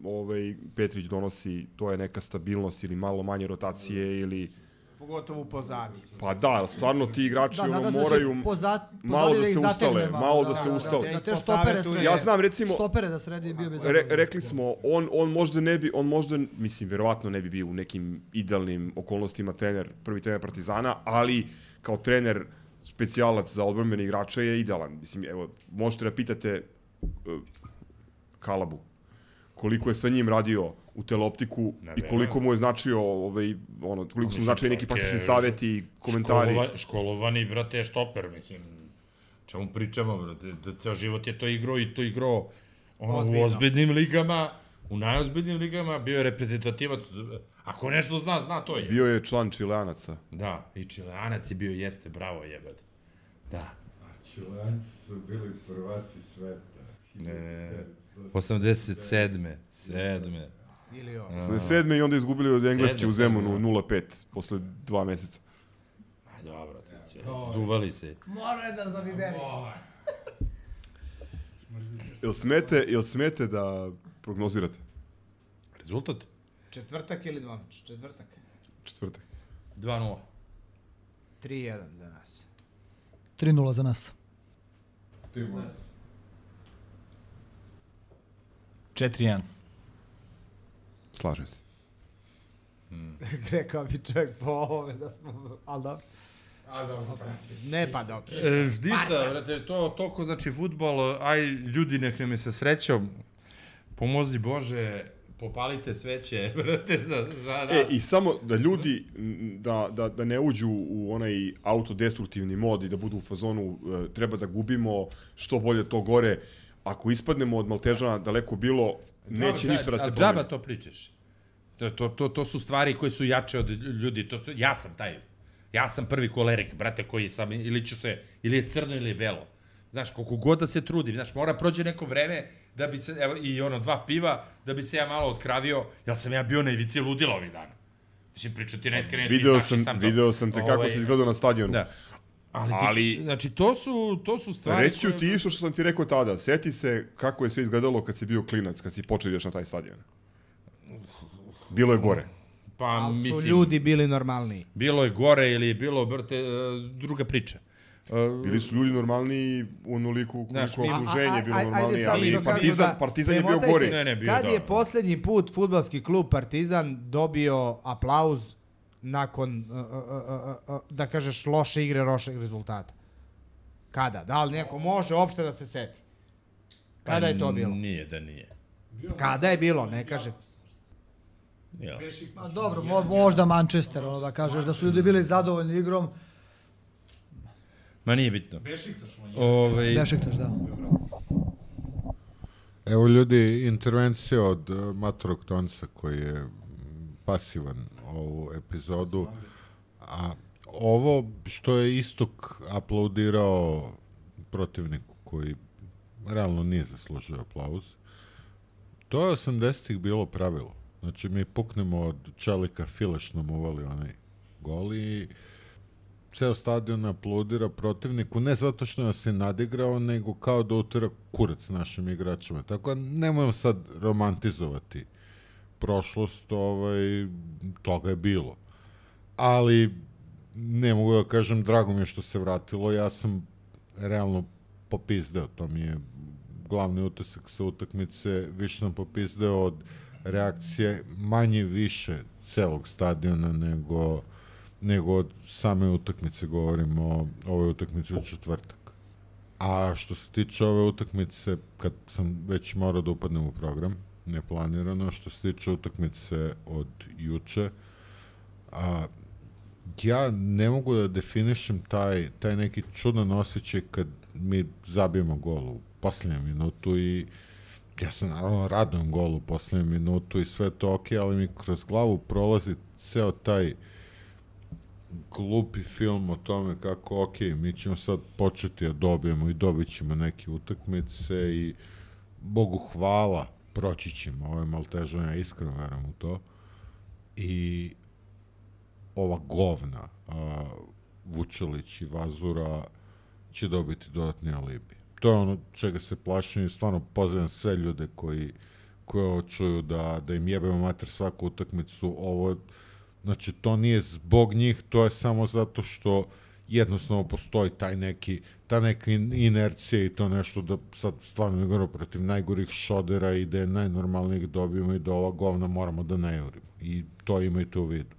S9: Petrić donosi, to je neka stabilnost ili malo manje rotacije ili...
S10: Pogotovo u pozadi.
S9: Pa da, stvarno ti igrači moraju malo da se ustale.
S6: Da te štopere sredi.
S9: Ja znam, recimo...
S6: Štopere da sredi bio bi zadovoljno.
S9: Rekli smo, on možda, mislim, verovatno ne bi bio u nekim idealnim okolnostima prvi trener Partizana, ali kao trener specijalac za odbrambene igrače je idealan. Mislim, evo, možete da pitate Kalabu koliko je sa njim radio u teleoptiku i koliko mu je značio, koliko su mu značili neki praktični savjeti i komentari.
S5: Školovani, brate, štoper, mislim, čemu pričamo, brate, da ceo život je to igrao u ozbiljnim ligama, u najozbiljnim ligama, bio je reprezentativac, ako nešto zna, to je.
S9: Bio je član Čileanaca.
S5: Da, i Čileanac je bio, jeste, bravo jebate. Da.
S3: A Čileanci su bili prvaci sveta.
S5: 87.
S9: 87. i onda izgubili od Engleske u Zemunu 0-5 posle 2 meseca.
S5: Dobro, zduvali se.
S10: Mora da zaviberi.
S9: Jel smete da prognozirate?
S5: Rezultat?
S10: Četvrtak ili dvomeč?
S9: Četvrtak.
S5: 2-0.
S10: 3-1 za nas.
S6: 3-0 za nas.
S3: Ti možeš.
S11: 4-1.
S9: Slažem se.
S10: Rekao bi čovjek po ovome da smo... Ali dobro. Ne pa dobro.
S5: Ništa, brate, to toliko znači fudbal, aj ljudi nek nam je sa srećom, pomozi Bože, popalite sveće, brate, za nas.
S9: I samo da ljudi, da ne uđu u onaj autodestruktivni mod i da budu u fazonu, treba da gubimo, što bolje to gore. Ako ispadnemo od Maltežana daleko bilo, neće ništa da se promeni.
S5: Džaba to pričaš. To su stvari koje su jače od ljudi. Ja sam taj. Ja sam prvi kolerik, brate, koji sam, ili je crno ili je belo. Znaš, koliko god da se trudim, znaš, mora prođe neko vreme da bi se, evo, i 2 piva, da bi se ja malo otkravio, jer sam ja bio na ivici ludila ovih dana. Mislim, pričati najiskrenije, ti znaš i sam to.
S9: Video sam te kako si izgledao na stadionu.
S5: Ali
S13: znači, to su stvari
S9: reći ću ti isto što sam ti rekao tada. Seti se kako je sve izgledalo kad si bio klinac, kad si počeo ideš na taj stadion. Bilo je gore.
S5: Pa,
S10: ali su ljudi bili normalniji.
S5: Bilo je gore ili je bilo, brate, druga priča.
S9: Bili su ljudi normalniji u onoliku koliko okruženje je bilo normalnije, ali Partizan je bio gori.
S10: Kad je posljednji put fudbalski klub Partizan dobio aplauz nakon, da kažeš, loše igre, lošeg rezultata? Kada? Da li neko može uopšte da se seti? Kada je to bilo?
S5: Nije da nije.
S10: Kada je bilo, ne kažem.
S6: Pa dobro, možda Manchester, da kažeš da su ljudi bili zadovoljni igrom.
S5: Ma nije bitno.
S6: Bešiktaš, da.
S3: Evo ljudi, intervencija od Matorog Tonca koji je pasivan ovu epizodu. A ovo što je Istok aplaudirao protivniku koji realno nije zaslužio aplauz, to je 80-ih bilo pravilo. Znači mi puknemo od Čelika, Fileš nam uvali onaj gol i ceo stadion aplaudira protivniku, ne zato što nas je nadigrao, nego kao da utira kurac našim igračima. Tako da nemojmo sad romantizovati prošlost, toga je bilo. Ali ne mogu da kažem, drago mi je što se vratilo, ja sam realno popizdeo, to mi je glavni utisak sa utakmice, više sam popizdeo od reakcije manje više celog stadiona nego od same utakmice, govorimo o ovoj utakmici u četvrtak. A što se tiče ove utakmice, kad sam već morao da upadnem u program, neplanirano, što se tiče utakmice od juče, ja ne mogu da definišem taj neki čudan osjećaj kad mi zabijemo gol u posljednjem minutu i ja se naravno radujem golu u posljednjem minutu i sve to ok, ali mi kroz glavu prolazi ceo taj glupi film o tome kako ok, mi ćemo sad početi da dobijemo i dobit ćemo neke utakmice i Bogu hvala, proći ćemo ove Maltežane, ja iskreno verujem u to. I ova govna Vučelić i Vazura će dobiti dodatni alibi. To je ono čega se plašim i stvarno pozivam sve ljude koji ovo čuju da im jebemo mater svaku utakmicu. Ovo, znači, to nije zbog njih, to je samo zato što jednostavno postoji ta neka inercija i to nešto da sad stvarno igramo protiv najgorih šodera i da je najnormalnijih dobijemo i da ova govna moramo da ne jurimo. I to imajte u vidu.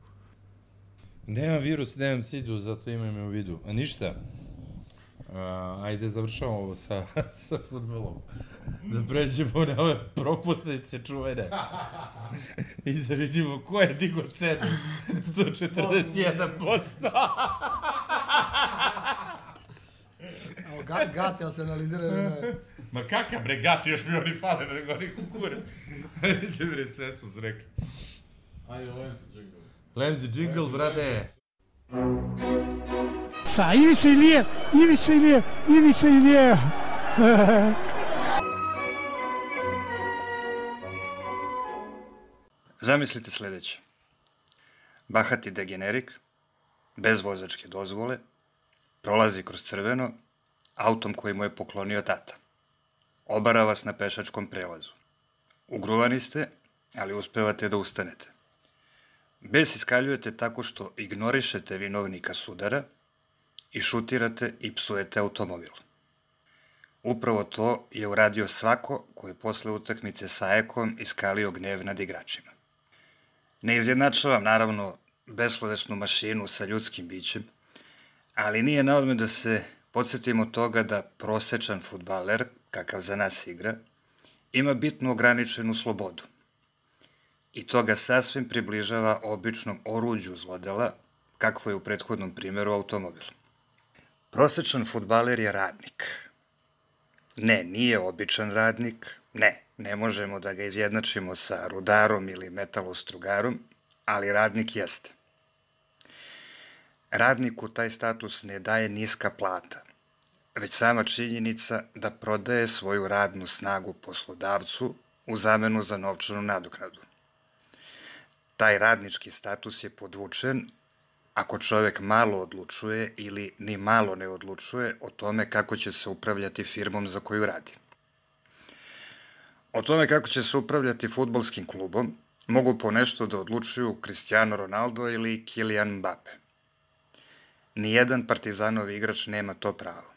S5: Nemam virus, nemam sidu, zato imam u vidu. A ništa, ajde završavamo ovo sa fudbalom. Da pređemo na ove propusnice čuvene. I da vidimo ko je digo cenu. 141%.
S6: Gati, ali se analizira.
S5: Ma kakav bre, Gati, još mi oni fale, nego oni kukure. Ajde bre, sve smo se rekli.
S3: Ajde, Lemzi džingl.
S5: Lemzi džingl, brate.
S14: Sa Ivica Ilije.
S15: Zamislite sljedeće. Bahati degenerik, bez vozačke dozvole, prolazi kroz crveno, autom koji mu je poklonio tata. Obara vas na pešačkom prelazu. Ugruvani ste, ali uspevate da ustanete. Bes iskaljujete tako što ignorišete vinovnika sudara i šutirate i psujete automobil. Upravo to je uradio svako ko je posle utakmice sa Ekom iskalio gnev nad igračima. Ne izjednačavam, naravno, beslovesnu mašinu sa ljudskim bićem, ali nije na odmet da se podsjetimo toga da prosečan fudbaler, kakav za nas igra, ima bitno ograničenu slobodu. I to ga sasvim približava običnom oruđu zlodela, kakvo je u prethodnom primjeru automobil. Prosečan fudbaler je radnik. Ne, nije običan radnik, ne možemo da ga izjednačimo sa rudarom ili metalostrugarom, ali radnik jeste. Radniku taj status ne daje niska plata, već sama činjenica da prodaje svoju radnu snagu poslodavcu u zamenu za novčanu nadoknadu. Taj radnički status je podvučen ako čovek malo odlučuje ili ni malo ne odlučuje o tome kako će se upravljati firmom za koju radi. O tome kako će se upravljati fudbalskim klubom mogu ponešto da odlučuju Cristiano Ronaldo ili Kylian Mbappe. Nijedan Partizanov igrač nema to pravo.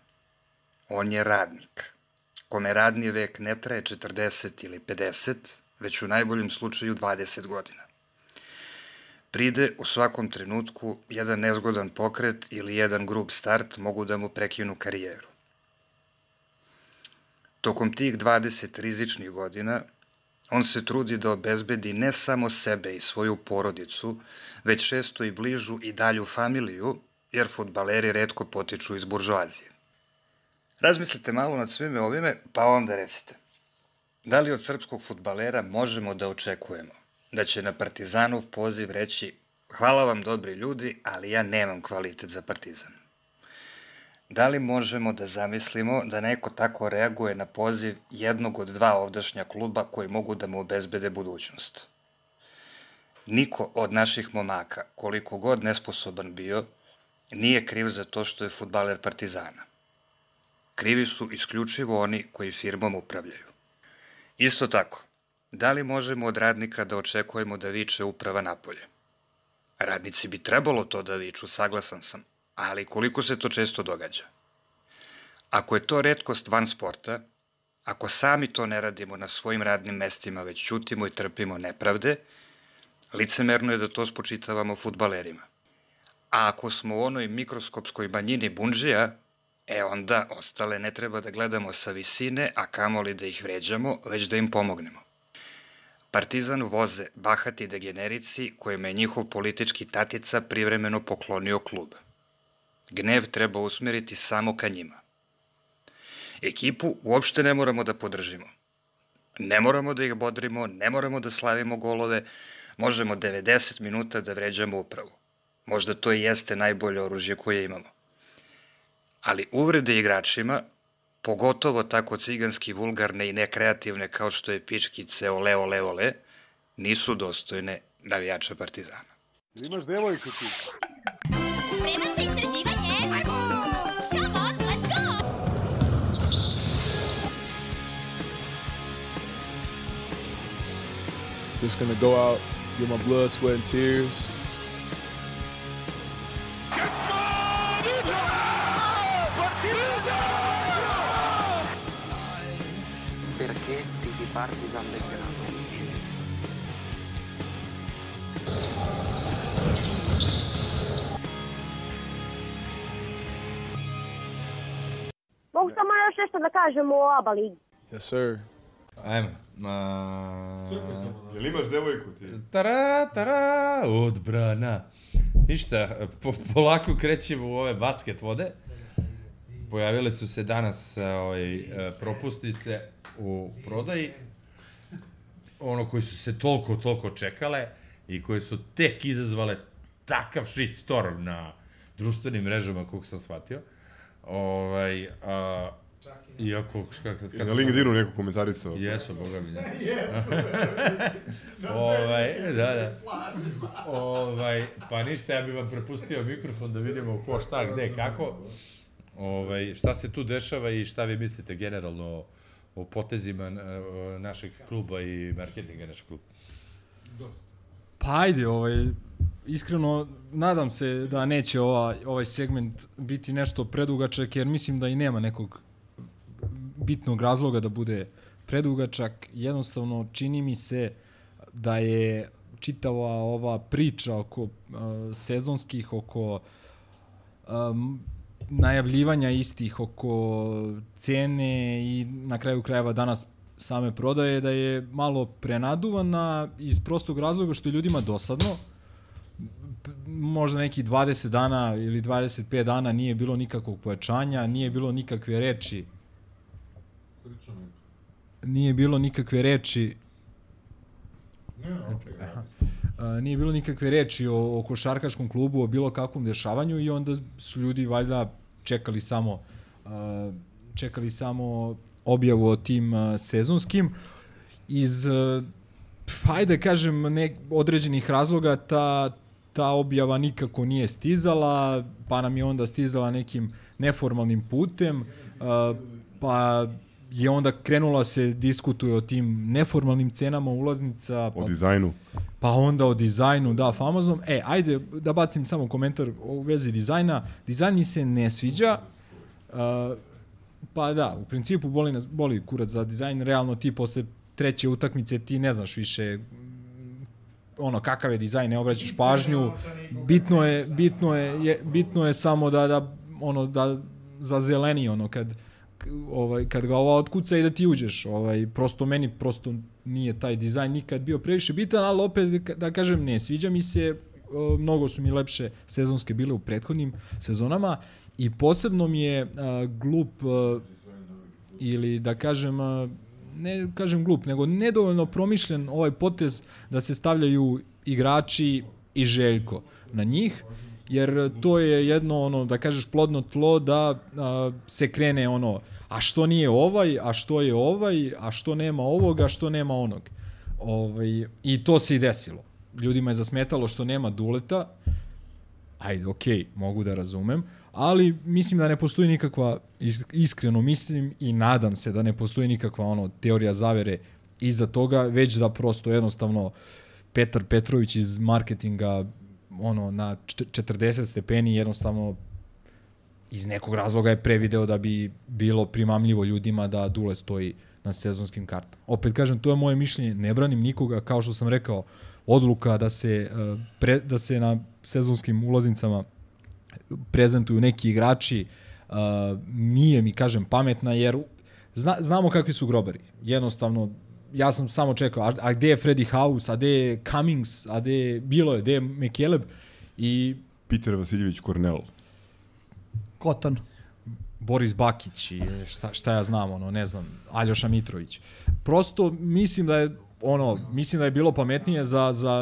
S15: On je radnik, kome radni vek ne traje 40 ili 50, već u najboljem slučaju 20 godina. Pride u svakom trenutku jedan nezgodan pokret ili jedan grub start mogu da mu prekinu karijeru. Tokom tih 20 rizičnih godina, on se trudi da obezbedi ne samo sebe i svoju porodicu, već često i bližu i dalju familiju, jer fudbaleri retko potiču iz buržoazije. Razmislite malo nad svime ovime, pa onda recite. Da li od srpskog fudbalera možemo da očekujemo da će na Partizanov poziv reći hvala vam dobri ljudi, ali ja nemam kvalitet za Partizan? Da li možemo da zamislimo da neko tako reaguje na poziv jednog od dva ovdašnja kluba koji mogu da mu obezbede budućnost? Niko od naših momaka, koliko god nesposoban bio, nije kriv za to što je fudbaler Partizana. Krivi su isključivo oni koji firmom upravljaju. Isto tako, da li možemo od radnika da očekujemo da viče uprava napolje? Radnici bi trebalo to da viču, saglasan sam, ali koliko se to često događa? Ako je to retkost van sporta, ako sami to ne radimo na svojim radnim mestima, već ćutimo i trpimo nepravde, licemerno je da to spočitavamo fudbalerima. A ako smo u onoj mikroskopskoj manjini bundžija, onda ostale ne treba da gledamo sa visine, a kamoli da ih vređamo, već da im pomognemo. Partizan voze bahati degenerici kojima je njihov politički tatica privremeno poklonio klub. Gnev treba usmeriti samo ka njima. Ekipu uopšte ne moramo da podržimo. Ne moramo da ih bodrimo, ne moramo da slavimo golove, možemo 90 minuta da vređamo upravu. Možda to i jeste najbolje oružje koje imamo. Ali uvrede igračima, pogotovo tako ciganski vulgarne i nekreativne kao što je pičkice ole, ole, ole, nisu dostojne navijača Partizana.
S4: Imaš devojku ti?
S14: Spreman za istraživanje? Come on, let's go!
S2: Just gonna go out, get my blood, sweat and tears.
S16: Perché tifi Partizan Belgrado?
S17: Mogu samo još nešto da kažem o ABA ligi.
S2: Yes, sir.
S5: Ajmo.
S9: Jel imaš devojku ti?
S5: Tara, odbrana. Ništa, polako krećemo u ove basket vode. Pojavile su se danas propusnice u prodaji. Ono koji su se toliko čekale i koje su tek izazvale takav shitstorm na društvenim mrežama, koliko sam shvatio. Iako...
S9: Na LinkedInu neko komentarisao.
S5: Jesu, boga mi, da.
S9: Jesu,
S5: da. Pa ništa, ja bih vam prepustio mikrofon da vidimo ko, šta, gde, kako. Šta se tu dešava i šta vi mislite generalno o potezima našeg kluba i marketinga našeg kluba?
S11: Pa ajde, iskreno nadam se da neće ovaj segment biti nešto predugačak, jer mislim da i nema nekog bitnog razloga da bude predugačak. Jednostavno čini mi se da je čitava ova priča oko sezonskih, oko najavljivanja istih, oko cene i na kraju krajeva danas same prodaje, da je malo prenaduvana iz prostog razloga što je ljudima dosadno. Možda neki 20 dana ili 25 dana nije bilo nikakvog pojačanja, nije bilo nikakve reči. Nije bilo nikakve reči o košarkaškom klubu, o bilo kakvom dešavanju i onda su ljudi valjda čekali samo objavu o tim sezonskim. Iz, hajde kažem, određenih razloga ta objava nikako nije stizala, pa nam je onda stizala nekim neformalnim putem, pa je onda krenula se diskutuje o tim neformalnim cenama ulaznica.
S9: O dizajnu.
S11: Pa onda o dizajnu, da, famoznom. Ajde da bacim samo komentar u vezi dizajna. Dizajn mi se ne sviđa, pa da, u principu boli kurac za dizajn, realno ti posle 3. utakmice ti ne znaš više kakav je dizajn, ne obraćaš pažnju. Bitno je samo da zazeleni kad ga ova otkuca i da ti uđeš. Meni nije taj dizajn nikad bio previše bitan, ali opet da kažem ne sviđa mi se, mnogo su mi lepše sezonske bile u prethodnim sezonama i posebno mi je glup ili da kažem ne kažem glup, nego nedovoljno promišljen ovaj potez da se stavljaju igrači i Željko na njih, jer to je jedno, da kažeš, plodno tlo da se krene a što nije ovaj, a što je ovaj, a što nema ovog, a što nema onog. I to se i desilo. Ljudima je zasmetalo što nema Duleta, ajde, okej, mogu da razumem, ali mislim da ne postoji nikakva, iskreno mislim i nadam se da ne postoji nikakva teorija zavere iza toga, već da prosto jednostavno Petar Petrović iz marketinga na 40 stepeni jednostavno iz nekog razloga je prevideo da bi bilo primamljivo ljudima da Dule stoji na sezonskim kartama. Opet kažem, to je moje mišljenje, ne branim nikoga, kao što sam rekao, odluka da se na sezonskim ulaznicama prezentuju neki igrači nije mi, kažem, pametna, jer znamo kakvi su grobari. Jednostavno, ja sam samo čekao, a gde je Freddie House, a gde je Cummings, a gde je McCaleb i...
S9: Peter Vasiljević Kornel.
S6: Koton.
S11: Boris Bakić i šta ja znam, ne znam, Aljoša Mitrović. Prosto mislim da je bilo pametnije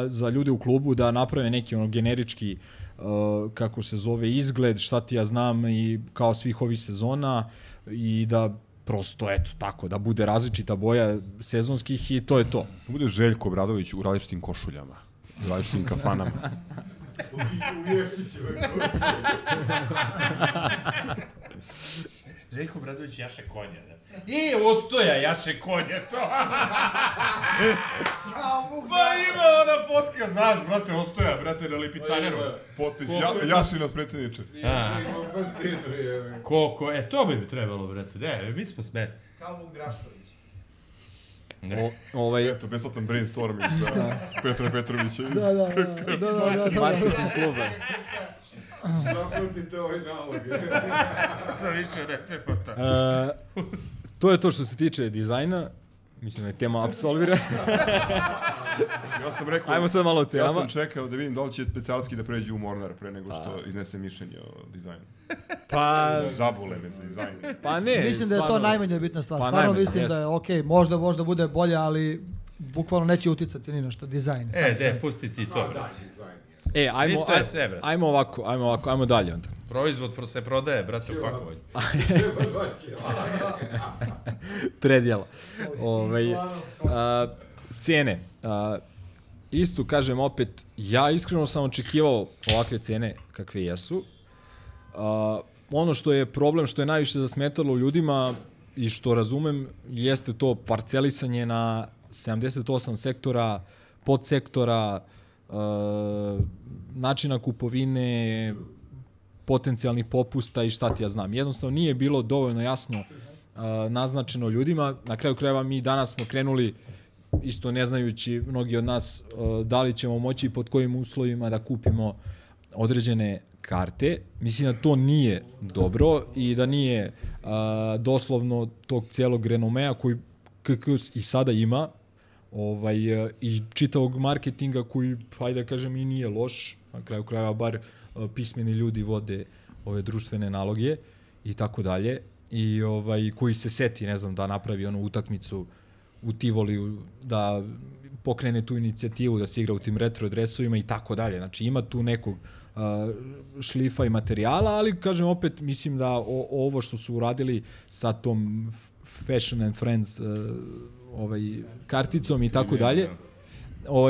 S11: za ljude u klubu da naprave neki generički kako se zove izgled, šta ti ja znam, i kao svih ovih sezona, i da prosto, eto, tako, da bude različita boja sezonskih i to je to.
S9: Da bude Željko Obradović u različitim košuljama, u različitim kafanama.
S3: U Ješićeve košulje.
S5: Željko Obradović jaše konja, ne? Ostoja jaše konja, to!
S9: Pa ima ona fotka, znaš, brate, Ostoja, brate, na Lipicaneru. Potpis, Jašina predsjedniče.
S5: Koliko, to bi trebalo, brate, ne, mi smo smeni.
S10: Kao Vuk Drašković.
S9: Eto, besplatan brainstorming za Petra Petrovića.
S6: Da.
S11: Marketing kluba.
S3: Zapratite ovaj nalog.
S5: Za više recepata.
S11: To je to što se tiče dizajna. Mislim da je tema apsolvirana.
S9: Ja sam rekao,
S11: ajmo sad malo o cenama.
S9: Ja sam čekao da vidim da li će specijalski da pređe u Mornar pre nego što iznese mišljenje o dizajnu.
S11: Pa...
S9: Zabole me za dizajn.
S11: Pa ne,
S6: mislim da je to najmanje bitna stvar. Stvarno mislim da je okej, možda bude bolje, ali bukvalno neće uticati ni na što, dizajn.
S5: Pusti ti to, brate.
S11: Ajmo ovako, ajmo dalje onda.
S5: Proizvod se prodaje, brate, u pakovanju.
S11: Predjela. Cene. Isto kažem opet, ja iskreno sam očekivao ovakve cene kakve jesu. Ono što je problem, što je najviše zasmetalo ljudima i što razumem, jeste to parcelisanje na 78 sektora, podsektora, načina kupovine, potencijalnih popusta i šta ti ja znam. Jednostavno nije bilo dovoljno jasno naznačeno ljudima. Na kraju krajeva mi danas smo krenuli, isto ne znajući mnogi od nas da li ćemo moći i pod kojim uslovima da kupimo određene karte. Mislim da to nije dobro i da nije doslovno tog cijelog renomea koji KK i sada ima, i čitavog marketinga koji, hajde da kažem, i nije loš. Na kraju krajeva bar pismeni ljudi vode ove društvene naloge i tako dalje. I koji se seti, ne znam, da napravi onu utakmicu u Tivoliju, da pokrene tu inicijativu, da se igra u tim retro dresovima i tako dalje. Znači ima tu nekog šlifa i materijala, ali kažem opet, mislim da ovo što su uradili sa tom Fashion and Friends karticom i tako dalje,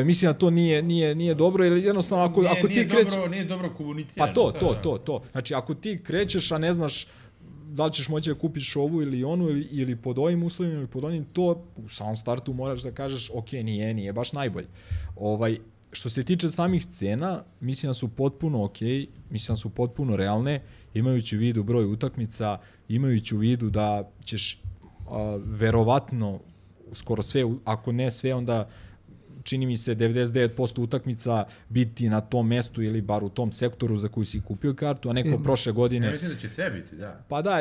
S11: mislim da to nije dobro, jer jednostavno ako ti krećeš...
S18: Nije dobro komunicirano.
S11: Pa to. Znači, ako ti krećeš, a ne znaš da li ćeš moći da kupiš ovu ili onu, ili pod ovim uslovima, ili pod onim, to u samom startu moraš da kažeš, ok, nije baš najbolje. Što se tiče samih cena, mislim da su potpuno ok, mislim da su potpuno realne, imajući u vidu broj utakmica, imajući u vidu da ćeš verovatno skoro sve, ako ne sve, onda čini mi se 99% utakmica biti na tom mestu ili bar u tom sektoru za koji si kupio kartu, a neko prošle godine...
S18: Ja mislim da će sve biti, da.
S11: Pa da,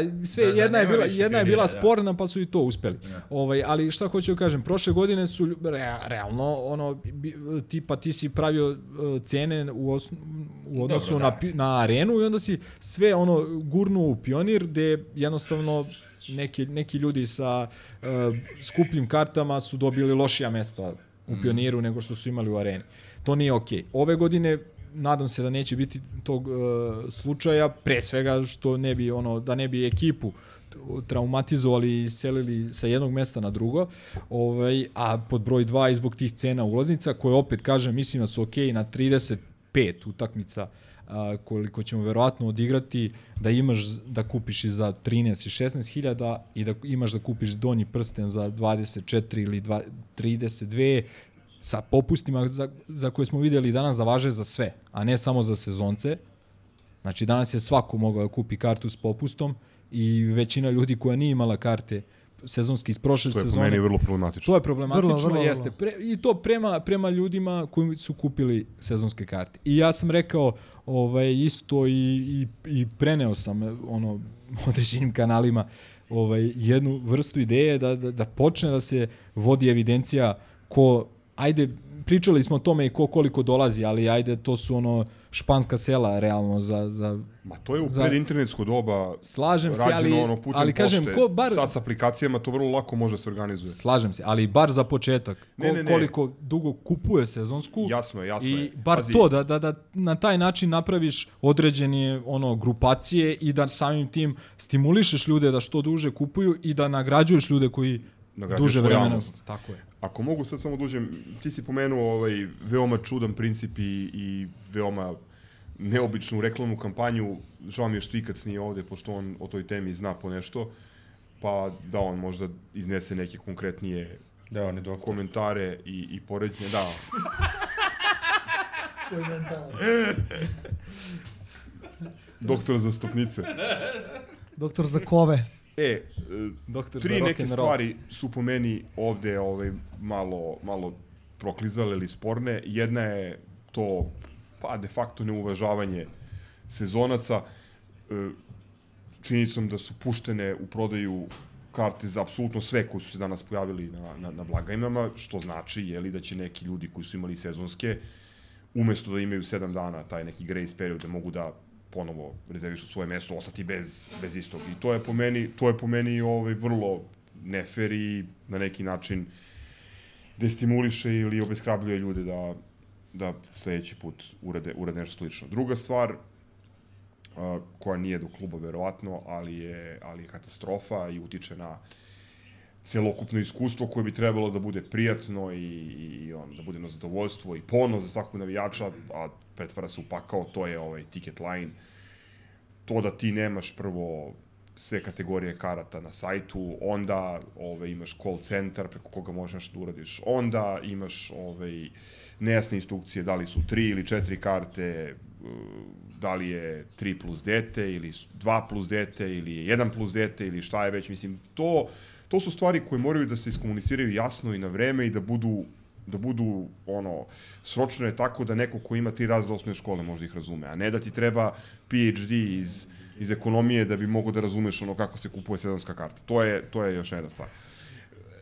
S11: jedna je bila sporna, pa su i to uspeli. Ali šta hoću da kažem, prošle godine su realno, tipa ti si pravio cene u odnosu na arenu i onda si sve gurnuo u Pionir, gde jednostavno neki ljudi sa skupljim kartama su dobili lošija mesta u Pioniru nego što su imali u areni. To nije okej. Ove godine nadam se da neće biti tog slučaja, pre svega što da ne bi ekipu traumatizovali i selili sa jednog mesta na drugo, a pod broj 2 i zbog tih cena ulaznica, koje opet kažem, mislim da su okej na 35 utakmica koliko ćemo verovatno odigrati, da imaš da kupiš i za 13 i 16.000 i da imaš da kupiš donji prsten za 24 ili 32 sa popustima za koje smo vidjeli danas da važe za sve, a ne samo za sezonce. Znači danas je svako mogao da kupi kartu s popustom i većina ljudi koja nije imala karte sezonski iz prošle sezone.
S9: To je po meni vrlo problematično.
S11: To je problematično, jeste. I to prema ljudima koji su kupili sezonske karte. I ja sam rekao isto i preneo sam određenim kanalima jednu vrstu ideje da počne da se vodi evidencija pričali smo o tome i koliko dolazi, ali to su španska sela realno za
S9: Ma to je u predinternetsko doba.
S11: Slažem se,
S9: ali kažem, sad s aplikacijama to vrlo lako može se organizuje.
S11: Slažem se, ali bar za početak. Koliko dugo kupuje sezonsku.
S9: Jasno je.
S11: I bar to, da na taj način napraviš određene grupacije i da samim tim stimulišeš ljude da što duže kupuju i da nagrađuješ ljude koji duže vremena. Tako je.
S9: Ako mogu sad samo dužem, ti si pomenuo veoma čudan princip i veoma neobičnu reklamnu kampanju. Žao mi je što Ikac nije ovde, pošto on o toj temi zna po nešto, pa da on možda iznese neke konkretnije komentare i poređenje. Da. Doktor za stopnice.
S6: Doktor za kove.
S9: Tri neke stvari su po meni ovde malo proklizale ili sporne. Jedna je to de facto neuvažavanje sezonaca, činjenicom da su puštene u prodaju karte za apsolutno sve koji su se danas pojavili na blagajnama, što znači da će neki ljudi koji su imali sezonske, umesto da imaju 7 dana taj neki grace period, da mogu da ponovo rezervišu svoje mesto, ostati bez istog. I to je po meni vrlo nefer i na neki način destimuliše ili obeshrabljuje ljude da sledeći put urade nešto slično. Druga stvar, koja nije do kluba verovatno, ali je katastrofa i utiče na celokupno iskustvo koje bi trebalo da bude prijatno i da bude na zadovoljstvo i ponos za svakog navijača, a pretvara se u pakao, to je ticket line. To da ti nemaš prvo sve kategorije karata na sajtu, onda imaš call centar preko koga možeš da uradiš, onda imaš nejasne instrukcije da li su 3 ili 4 karte, da li je 3 plus dete ili 2 plus dete ili 1 plus dete ili šta je već, mislim, to su stvari koje moraju da se iskomuniciraju jasno i na vreme i da budu sročene tako da neko ko ima 3 razreda osnovne škole može ih razume, a ne da ti treba PhD iz ekonomije da bi mogo da razumeš kako se kupuje sezonska karta. To je još jedna stvar.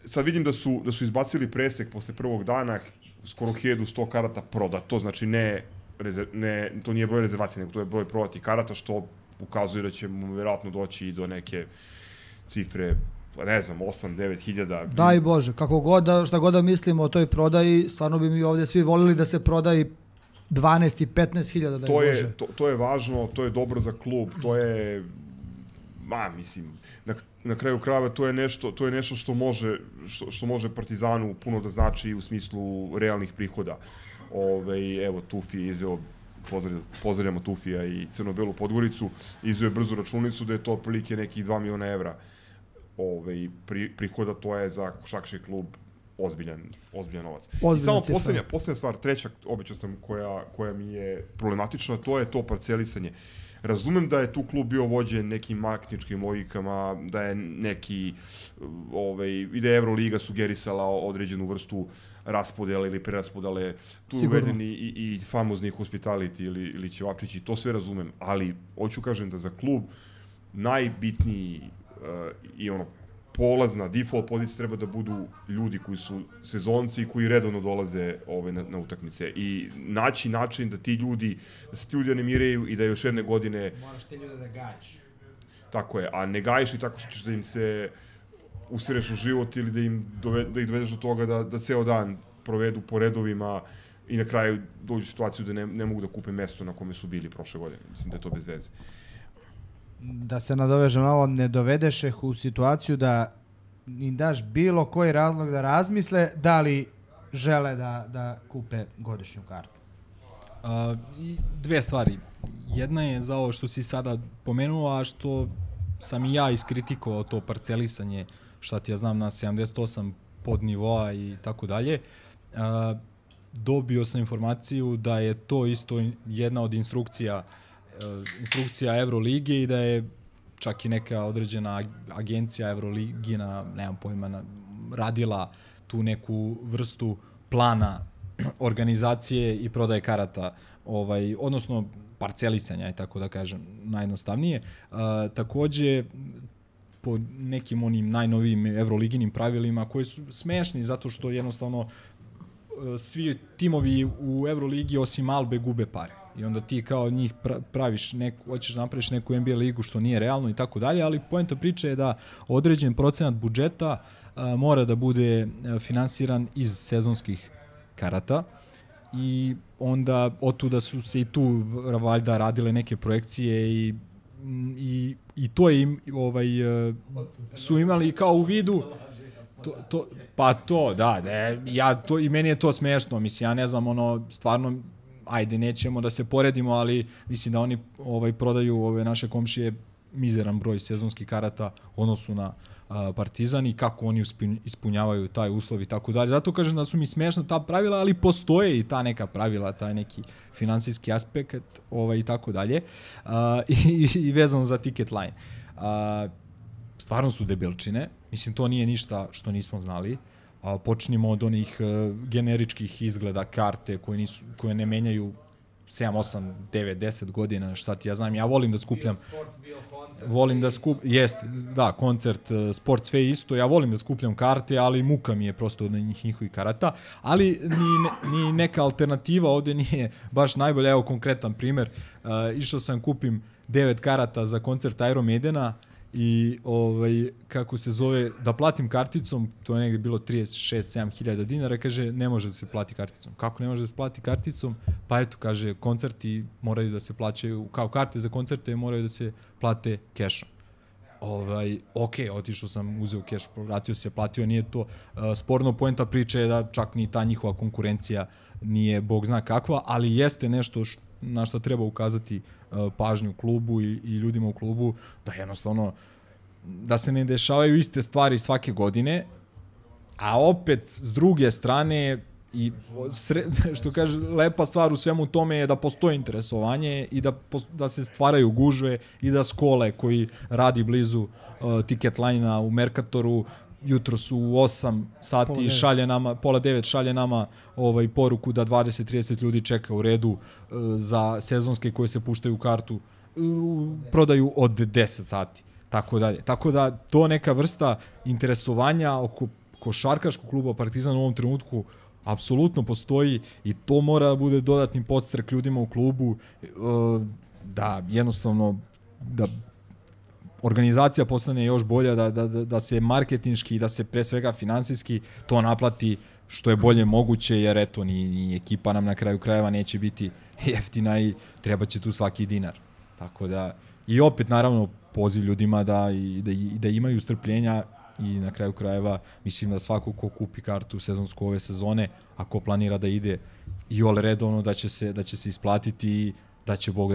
S9: Sad vidim da su izbacili presek posle prvog dana, skoro 1100 karata prodato, znači to nije broj rezervacije, nego to je broj prodatih karata, što ukazuje da ćemo vjerojatno doći i do neke cifre, ne znam, 8-9 hiljada.
S6: Daj Bože, šta god da mislimo o toj prodaji, stvarno bi mi ovdje svi volili da se prodaji 12 i 15 hiljada, daj Bože.
S9: To je važno, to je dobro za klub, to je, mislim, na kraju krajeva to je nešto što može Partizanu puno da znači u smislu realnih prihoda. Evo, Tufi je izveo, pozdravljamo Tufija i Crno-Belu Podgoricu, izveo je brzu računicu da je to otprilike nekih 2 miliona evra prihoda, to je za košarkaški klub ozbiljan novac. I samo poslednja stvar, treća, obećao sam, koja mi je problematična, to je to parcelisanje. Razumem da je tu klub bio vođen nekim marketinškim logikama, da je i da je Euroliga sugerisala određenu vrstu raspodele ili preraspodele, tu je uveden i famozni hospitality ili ćevapčići, to sve razumem, ali hoću kažem da za klub najbitniji i polazna, default pozicija treba da budu ljudi koji su sezonci i koji redovno dolaze na utakmice i naći način da ti ljudi, da se ti ljudi animiraju i da još jedne godine...
S10: Moraš te ljude da gajiš.
S9: Tako je, a ne gajiš i tako što ćeš da im se usireš u život ili da ih dovedeš do toga da ceo dan provedu po redovima i na kraju dođu u situaciju da ne mogu da kupe mesto na kome su bili prošle godine. Mislim da je to bez veze.
S10: Da se nadovežem na ovo, ne dovedeš ih u situaciju da im daš bilo koji razlog da razmisle da li žele da kupe godišnju kartu.
S11: Dve stvari. Jedna je za ovo što si sada pomenuo, a što sam i ja iskritikovao to parcelisanje, šta ti ja znam, na 78 podnivoa i tako dalje. Dobio sam informaciju da je to isto jedna od instrukcija Evrolige i da je čak i neka određena agencija Evroligina, nemam pojma, radila tu neku vrstu plana organizacije i prodaje karata, odnosno parcelisanja, tako da kažem, najjednostavnije. Takođe, po nekim onim najnovijim Evroliginim pravilima koji su smešni zato što jednostavno svi timovi u Evroligi osim Albe gube pare. I onda ti kao njih praviš hoćeš napraviš neku NBA ligu što nije realno i tako dalje, ali poenta priče je da određen procenat budžeta mora da bude finansiran iz sezonskih karata i onda otuda su se i tu valjda radile neke projekcije i to je su imali kao u vidu i meni je to smešno, mislim, ja ne znam, stvarno, ajde, nećemo da se poredimo, ali mislim da oni prodaju ove naše komšije mizeran broj sezonskih karata u odnosu na Partizan i kako oni ispunjavaju taj uslov i tako dalje. Zato kažem da su mi smešna ta pravila, ali postoje i ta neka pravila, taj neki finansijski aspekt i tako dalje. I vezano za ticket line. Stvarno su debilčine. Mislim, to nije ništa što nismo znali. Počnimo od onih generičkih izgleda karte koje ne menjaju 7, 8, 9, 10 godina, šta ti ja znam. Ja volim da skupljam... koncert, sport, sve isto. Ja volim da skupljam karte, ali muka mi je prosto od njihovih karata. Ali ni neka alternativa ovde nije baš najbolja. Evo konkretan primer. Išao sam kupim 9 karata za koncert Iron Maidena i kako se zove, da platim karticom, to je negdje bilo 36-7 hiljada dinara, kaže ne može da se plati karticom. Kako ne može da se plati karticom? Pa eto, kaže, koncerti moraju da se plaćaju, kao karte za koncerte moraju da se plate kešom. Otišao sam, uzeo keš, vratio se, platio, nije to sporno. Poenta priče je da čak ni ta njihova konkurencija nije bog zna kakva, ali jeste nešto na što treba ukazati pažnju klubu i ljudima u klubu, da jednostavno da se ne dešavaju iste stvari svake godine, a opet s druge strane i što kaže, lepa stvar u svemu tome je da postoji interesovanje i da se stvaraju gužve i da Skole koji radi blizu ticket line-a u Mercatoru jutro su u 8 sati šalje nama, pola 9 šalje nama poruku da 20-30 ljudi čeka u redu za sezonske koje se puštaju u kartu, prodaju od 10 sati. Tako dalje. Tako da to neka vrsta interesovanja oko košarkaškog kluba Partizan u ovom trenutku apsolutno postoji i to mora da bude dodatni podstrek ljudima u klubu da jednostavno da organizacija postane još bolja, da se marketinški i da se pre svega finansijski to naplati što je bolje moguće, jer eto, ni ekipa nam na kraju krajeva neće biti jeftina i treba će tu svaki dinar. Tako da, i opet naravno poziv ljudima da imaju strpljenja i na kraju krajeva mislim da svako ko kupi kartu sezonsku ove sezone, ako planira da ide i ole redovno, da će se isplatiti i da će Bog,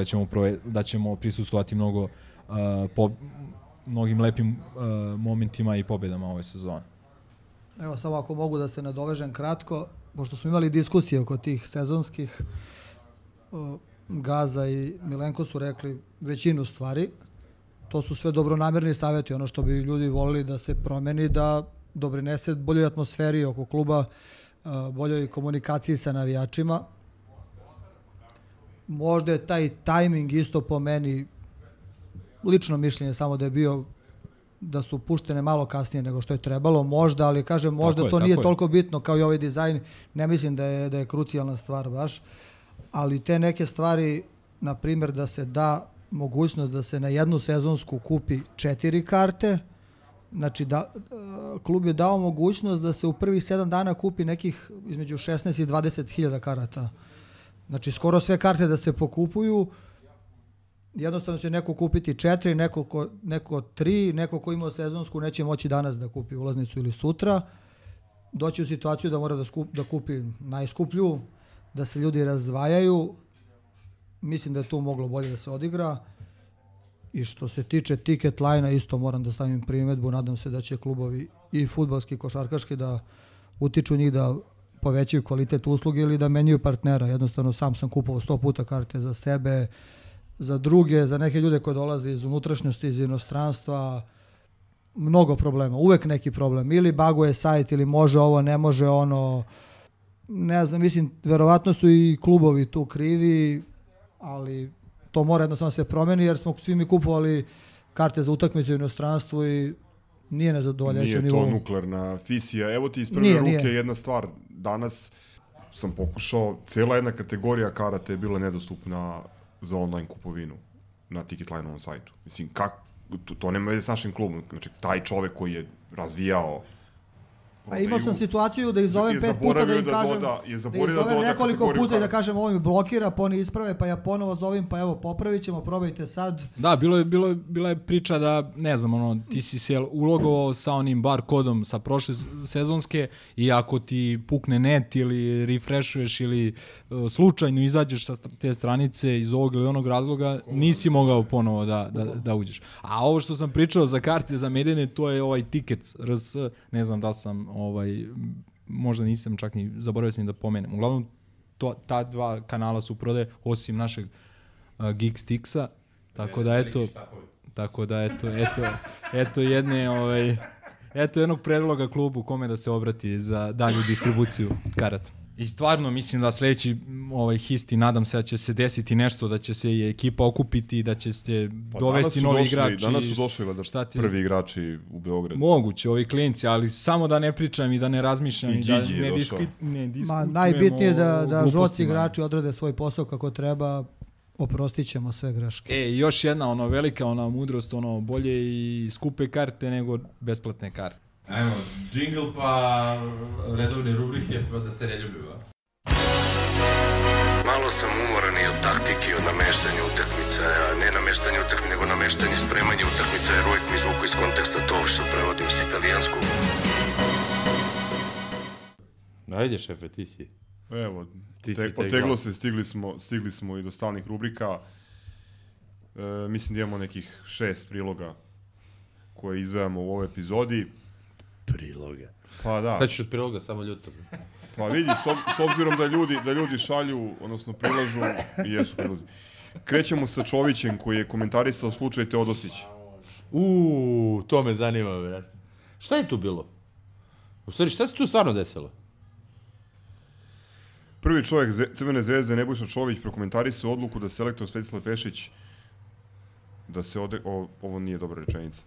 S11: da ćemo prisustvovati mnogim lepim momentima i pobjedama ove sezone.
S6: Evo samo ako mogu da se nadovežem kratko, pošto smo imali diskusije oko tih sezonskih, Gaza i Milenko su rekli većinu stvari. To su sve dobronamerni savjeti, ono što bi ljudi volili da se promeni, da doprinese boljoj atmosferi oko kluba, boljoj komunikaciji sa navijačima. Možda je taj tajming isto po meni, lično mišljenje samo da su puštene malo kasnije nego što je trebalo, možda, ali kažem možda to nije toliko bitno kao i ovaj dizajn, ne mislim da je krucijalna stvar baš, ali te neke stvari, na primjer da se da mogućnost da se na jednu sezonsku kupi 4 karte, znači klub je dao mogućnost da se u prvih 7 dana kupi nekih između 16 i 20 hiljada karata. Znači skoro sve karte da se pokupuju, jednostavno će neko kupiti 4, neko 3, neko ko ima sezonsku neće moći danas da kupi ulaznicu ili sutra, doći u situaciju da mora da kupi najskuplju, da se ljudi razdvajaju. Mislim da je tu moglo bolje da se odigra. I što se tiče ticket line-a, isto moram da stavim primjedbu, nadam se da će klubovi i fudbalski i košarkaški da utiču njih da povećaju kvalitet usluge ili da menjaju partnera. Jednostavno sam kupovao 100 puta karte za sebe, za druge, za neke ljude koji dolaze iz unutrašnjosti, iz inostranstva. Mnogo problema, uvek neki problem. Ili baguje sajt, ili može ovo, ne može ono. Ne znam, mislim, verovatno su i klubovi tu krivi, ali to mora jednostavno se promeni, jer smo svi mi kupovali karte za utakmice u inostranstvu i nije nezadovoljajuće nivou.
S9: Nije to nuklearna fisija. Evo ti iz prve ruke jedna stvar. Danas sam pokušao, cijela jedna kategorija karata je bila nedostupna za online kupovinu na Ticketline-ovom sajtu. Mislim, to nema veze s našim klubom. Znači, taj čovek koji je razvijao.
S6: A imao sam situaciju da izovem 5 puta da im kažem, da izovem nekoliko puta i da kažem ovo mi blokira, pa oni isprave, pa ja ponovo zovem, pa evo popravit ćemo, probajte sad.
S11: Da, bila je priča da, ne znam, ti si se ulogovao sa onim bar kodom sa prošle sezonske i ako ti pukne net ili refreshuješ ili slučajno izađeš sa te stranice iz ovog ili onog razloga, nisi mogao ponovo da uđeš. A ovo što sam pričao za karte za Medene, to je ovaj Tickets RS, ne znam da li sam možda nisam čak ni zaboravio sam da pomenem. Uglavnom, ta dva kanala su prodaje, osim našeg Geek Sticksa, tako da eto jednog predloga klubu kome da se obrati za dalju distribuciju karata. I stvarno mislim da sljedeći histi, nadam se da će se desiti nešto, da će se i ekipa okupiti, da će se dovesti novi igrači.
S9: Danas su došli prvi igrači u Beogradu.
S11: Moguće, ovi klinci, ali samo da ne pričam i da ne razmišljam i da ne diskutujemo.
S6: Najbitnije je da žoci igrači odrade svoj posao kako treba, oprostit ćemo sve greške.
S11: Još jedna velika mudrost, bolje i skupe karte nego besplatne karte.
S18: Ajmo, džingl pa redovne rubrike pa da se reljubiva.
S19: Malo sam umoran i od taktike, od nameštanja utakmica, ne nameštanja utakmica, nego nameštanje spremanja utakmica, jer uvijek mi izvuku iz konteksta to što prevodim s italijanskog.
S5: Ajde šefe, ti si.
S9: Evo, poteglo se, stigli smo i do stalnih rubrika. Mislim da imamo nekih 6 priloga koje izdvajamo u ovoj epizodi.
S5: Priloga.
S9: Pa da.
S5: Šta ćeš od priloga, samo ljuto?
S9: Pa vidi, s obzirom da ljudi šalju, odnosno prilažu, jesu prilazi. Krećemo sa Čovićem koji je komentarisao slučaj Teodosić.
S5: To me zanima, vjerojatno. Šta je tu bilo? U stvari, šta se tu stvarno desilo?
S9: Prvi čovjek Crvene zvezde, Nebojša Čović, prokomentarisao odluku da selektor Svetislav Pešić, ovo nije dobra rečenica,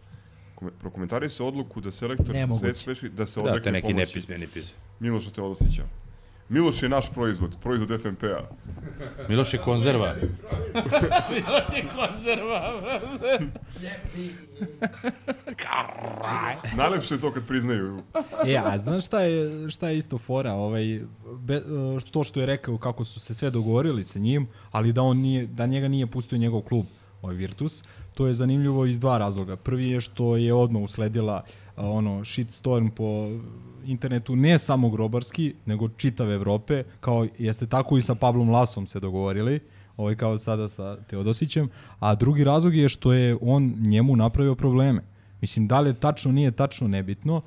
S9: prokomentarisao odluku da selektor Svetislav Pešić da se odrekne
S5: neki
S9: pomoći
S5: nepismeni pis.
S9: Miloša Teodosića. Miloš je naš proizvod FNP-a.
S5: Miloš je konzerva.
S12: Miloš je konzerva, brate.
S9: Najlepše je to kad priznaju.
S11: A znaš šta je isto fora? To što je rekao kako su se sve dogovorili sa njim, ali da njega nije pustio njegov klub. Virtus. To je zanimljivo iz dva razloga. Prvi je što je odmah usledila shitstorm po internetu, ne samo grobarski, nego čitave Evrope, kao jeste tako i sa Pablom Lasom se dogovorili, kao sada sa Teodosićem, a drugi razlog je što je on njemu napravio probleme. Mislim, da li je tačno, nije tačno, nebitno.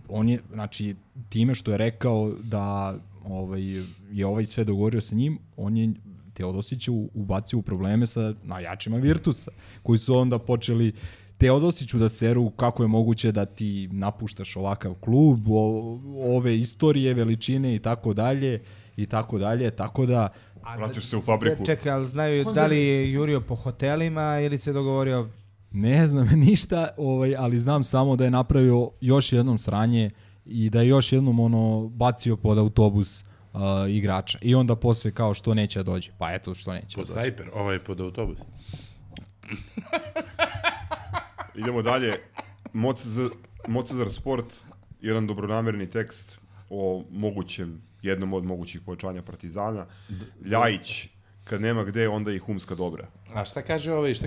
S11: On je, znači, time što je rekao da je sve dogovorio sa njim, on je Teodosića ubacio u probleme sa najjačima Virtusa, koji su onda počeli Teodosiću da seru kako je moguće da ti napuštaš ovakav klub, ove istorije, veličine i tako dalje, tako da...
S9: Vraćaš se u fabriku.
S10: Čekaj, ali znaju da li je jurio po hotelima ili se dogovorio?
S11: Ne znam ništa, ali znam samo da je napravio još jednom sranje i da je još jednom bacio pod autobus igrača. I onda posle kao što neće da dođe. Pa eto što neće
S5: pod
S11: da dođe.
S5: Snajper, pod autobus.
S9: Idemo dalje. Mocezar Sport, jedan dobronamerni tekst o jednom od mogućih pojačanja Partizana. Ljajić, kad nema gde, onda i Humska dobra.
S5: A šta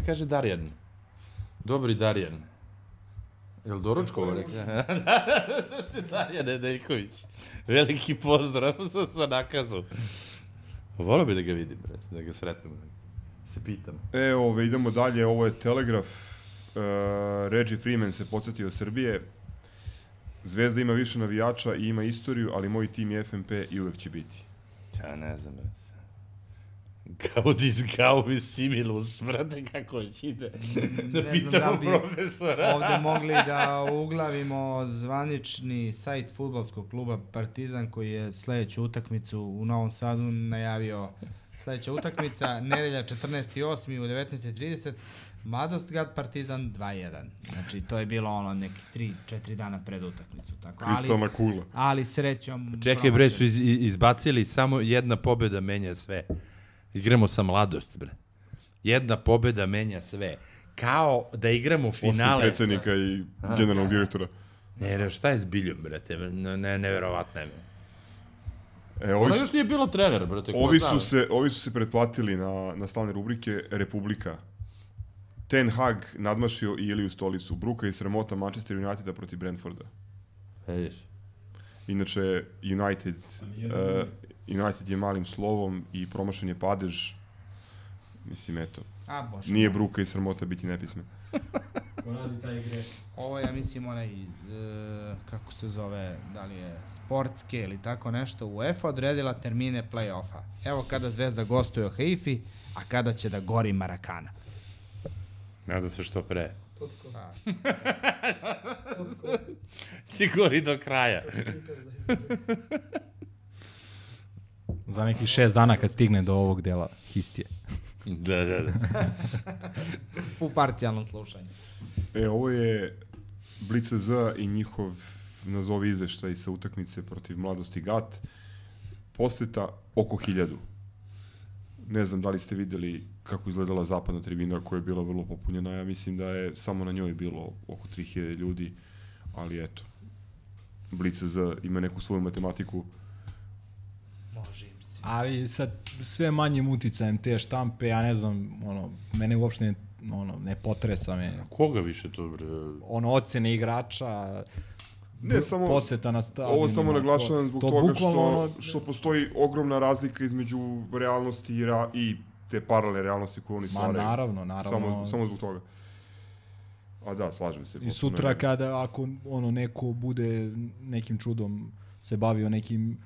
S5: kaže Darjan? Dobri Darjan. Jel doručkovo rekao? Darjan Nedeljković. Veliki pozdrav sa nakazu. Volio bi da ga vidim, da ga sretnem, se pitam.
S9: Idemo dalje, ovo je Telegraf. Reggie Freeman se podsjetio Srbije. Zvezda ima više navijača i ima istoriju, ali moj tim je FNP i uvek će biti.
S5: Ja ne znam, Gaudis Gauvis Similus, brate, kako već ide. Da pitamo profesora.
S10: Ovde mogli da uglavimo zvanični sajt fudbalskog kluba Partizan, koji je sledeću utakmicu u Novom Sadu najavio. Sledeća utakmica, nedelja 14.8. u 19.30, Mladostgrad Partizan 2-1. Znači, to je bilo neki 3-4 dana pred utakmicu.
S9: Kristalna kula.
S10: Ali srećom...
S5: Čekaj, bre, su izbacili samo jedna pobjeda menja sve. Igramo sa Mladost, bre. Jedna pobjeda menja sve. Kao da igramo finale.
S9: Osim predsjednika i generalnog direktora.
S5: Ne, šta je s Biljom, brate? Neverovatno je.
S9: Ona
S5: još nije bilo trener, brate.
S9: Ovi su se pretplatili na slavne rubrike Republika. Ten Hag nadmašio i Iliju Stolicu. Bruka i sramota Manchester Uniteda protiv Brentforda.
S5: Vidiš.
S9: Inače, United je malim slovom i promašen je padež. Mislim, eto. Nije bruka i sramota biti nepismen.
S11: Ko radi taj greš?
S10: Ovo ja mislim kako se zove, da li je sportske ili tako nešto, UEFA odredila termine play-offa. Evo kada Zvezda gostuje u Haifi, a kada će da gori Marakana.
S5: Nadam se što pre. Svi gori do kraja.
S11: Za nekih 6 dana kad stigne do ovog dela histije.
S5: Da.
S10: U parcijalnom slušanju.
S9: Ovo je Blic.z i njihov nazovi izveštaj sa utakmice protiv Mladosti Gat. Poseta oko 1000. Ne znam da li ste videli kako izgledala zapadna tribina koja je bila vrlo popunjena. Ja mislim da je samo na njoj bilo oko 3000 ljudi, ali eto. Blic.z ima neku svoju matematiku.
S10: Može im se.
S11: Ali sa sve manjim uticajem te štampe, ja ne znam, mene uopšte ne potresa me.
S5: Koga više to, bre?
S11: Ocene igrača,
S9: ne, samo,
S11: poseta na stadionima.
S9: Ovo samo naglašavam zbog toga što postoji ogromna razlika između realnosti i te paralelne realnosti koje oni stvaraju.
S11: Naravno.
S9: Samo zbog toga. A da, slažem se.
S11: I sutra ako neko bude nekim čudom se bavio nekim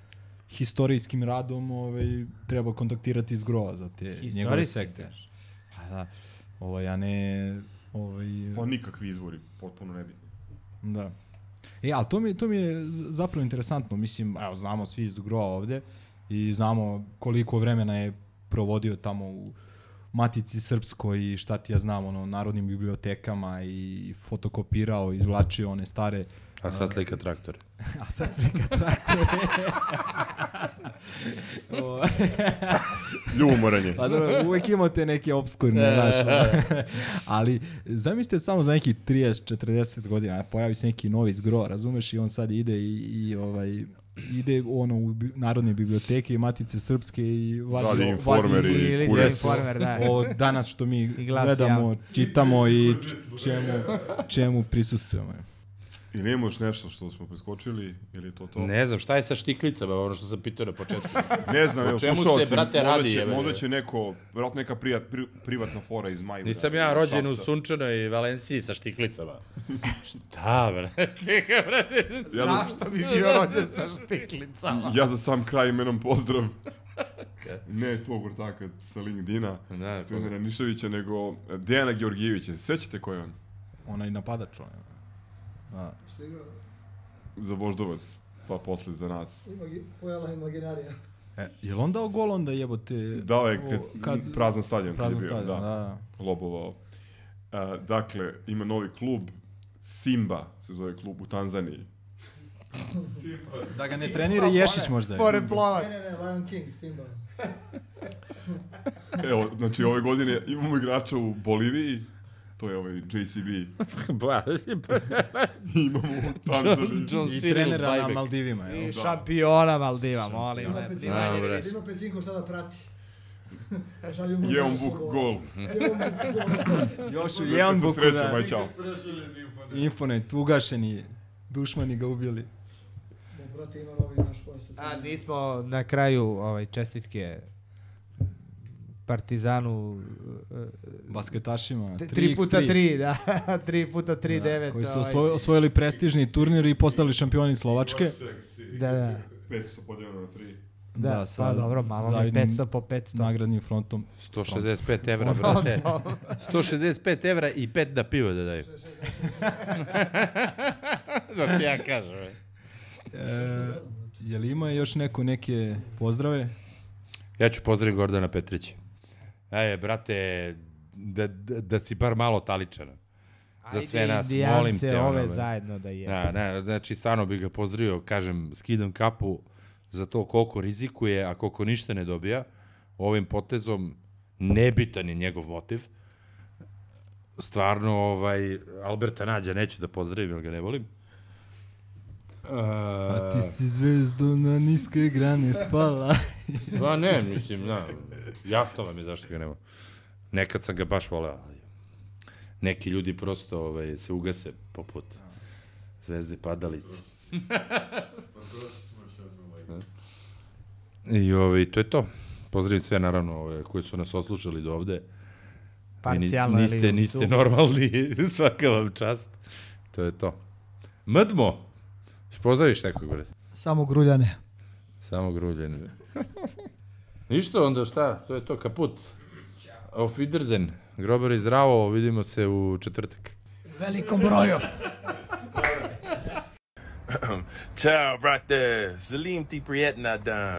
S11: historijskim radom, treba kontaktirati iz Grova za te njegove sekte. A ne...
S9: Pa nikakvi izvori, potpuno nebitni.
S11: Da. Ali to mi je zapravo interesantno. Mislim, znamo svi iz Grova ovde i znamo koliko vremena je provodio tamo u Matici Srpskoj i šta ti ja znam, narodnim bibliotekama i fotokopirao, izvlačio one stare...
S5: A sad slika traktore.
S9: Ljubomoranje.
S11: Pa dobro, uvek imate neke obskurne naše. Ali zamislite samo za nekih 30-40 godina, pojavi se neki novi Zgro, razumeš, i on sad ide i ide ono u Narodne biblioteke i Matice Srpske i
S9: vadi Informer i
S10: Informer, da.
S11: Ovo danas što mi gledamo, čitamo i čemu prisustujemo.
S9: I nema još nešto što smo preskočili, ili je to to?
S5: Ne znam, šta je sa štiklicama, ono što sam pitao na početku?
S9: Ne znam, evo,
S5: o čemu se, brate, radi?
S9: Možda će neko, vjerojatno neka privatna fora iz Majvora.
S5: Nisam ja rođen u sunčanoj Valenciji sa štiklicama. Šta, brate?
S10: Zašto bi bio rođen sa štiklicama?
S9: Ja za sam kraj imenom pozdrav. Ne tog vrtaka sa LinkedIna, trenera Niševića, nego Dejana Georgijevića. Sećate ko je on?
S11: Onaj napadač,
S9: za Voždovac, pa posle za nas.
S6: Pojela imaginarija.
S11: Je li on dao gol onda jebote?
S9: Dao je prazan stadion.
S11: Prazan stadion, da.
S9: Lobovao. Dakle, ima novi klub, Simba se zove klub u Tanzaniji.
S11: Da ga ne trenira Ješić možda.
S10: Pored Plovac.
S6: Ne, Lion King, Simba.
S9: Evo, znači ove godine imamo igrača u Boliviji, to je ovaj JCB. Imamo u Tanzaniji.
S11: I trenera na Maldivima.
S10: I šampiona Maldiva, molim.
S6: Ima Pecinko šta da prati.
S9: Jeon Buk gol.
S11: Još u Jeon Buku, da. Infonet, ugašeni, dušmani ga ubili.
S10: Nismo na kraju čestitke Partizanu,
S11: basketašima,
S10: 3x3, da, 3x3, 9.
S11: Koji su osvojili prestižni turnir i postali šampioni Slovačke.
S10: Da.
S9: 500 podijeljeno na 3.
S10: Da, pa dobro, malo je 500 po 500.
S11: Nagradnim frontom.
S5: 165 evra, brate. 165 evra i 5 da piva da daju. Da ti ja kažem.
S11: Je li ima još neke pozdrave?
S5: Ja ću pozdraviti Gordana Petrića. Brate, da si bar malo taličan. Za sve nas, molim te.
S10: Ove zajedno da je.
S5: Znači, stvarno bih ga pozdravio, kažem, skidam kapu za to koliko rizikuje, a koliko ništa ne dobija. Ovim potezom nebitan je njegov motiv. Stvarno, Alberta Nađa neću da pozdravim, jer ga ne volim.
S11: A ti si zvezdo na niske grane spala.
S5: Pa ne, mislim, jasno vam je zašto ga nema. Nekad sam ga baš voleo, ali neki ljudi prosto se ugase poput Zvezde Padalice. I to je to. Pozdravim sve, naravno, koji su nas oslušali do ovde.
S10: Parcijalno
S5: niste normalni, svaka vam čast. To je to. Mdmo! Pozdraviš nekog, brate?
S6: Samo gruljane.
S5: Samo gruljane. Ništa, onda šta? To je to, kaput. Auf Wiedersehen. Grobar i zdravo, vidimo se u četvrtak.
S6: Velikom broju.
S20: Ciao, brate. Salim ti prijetna dan.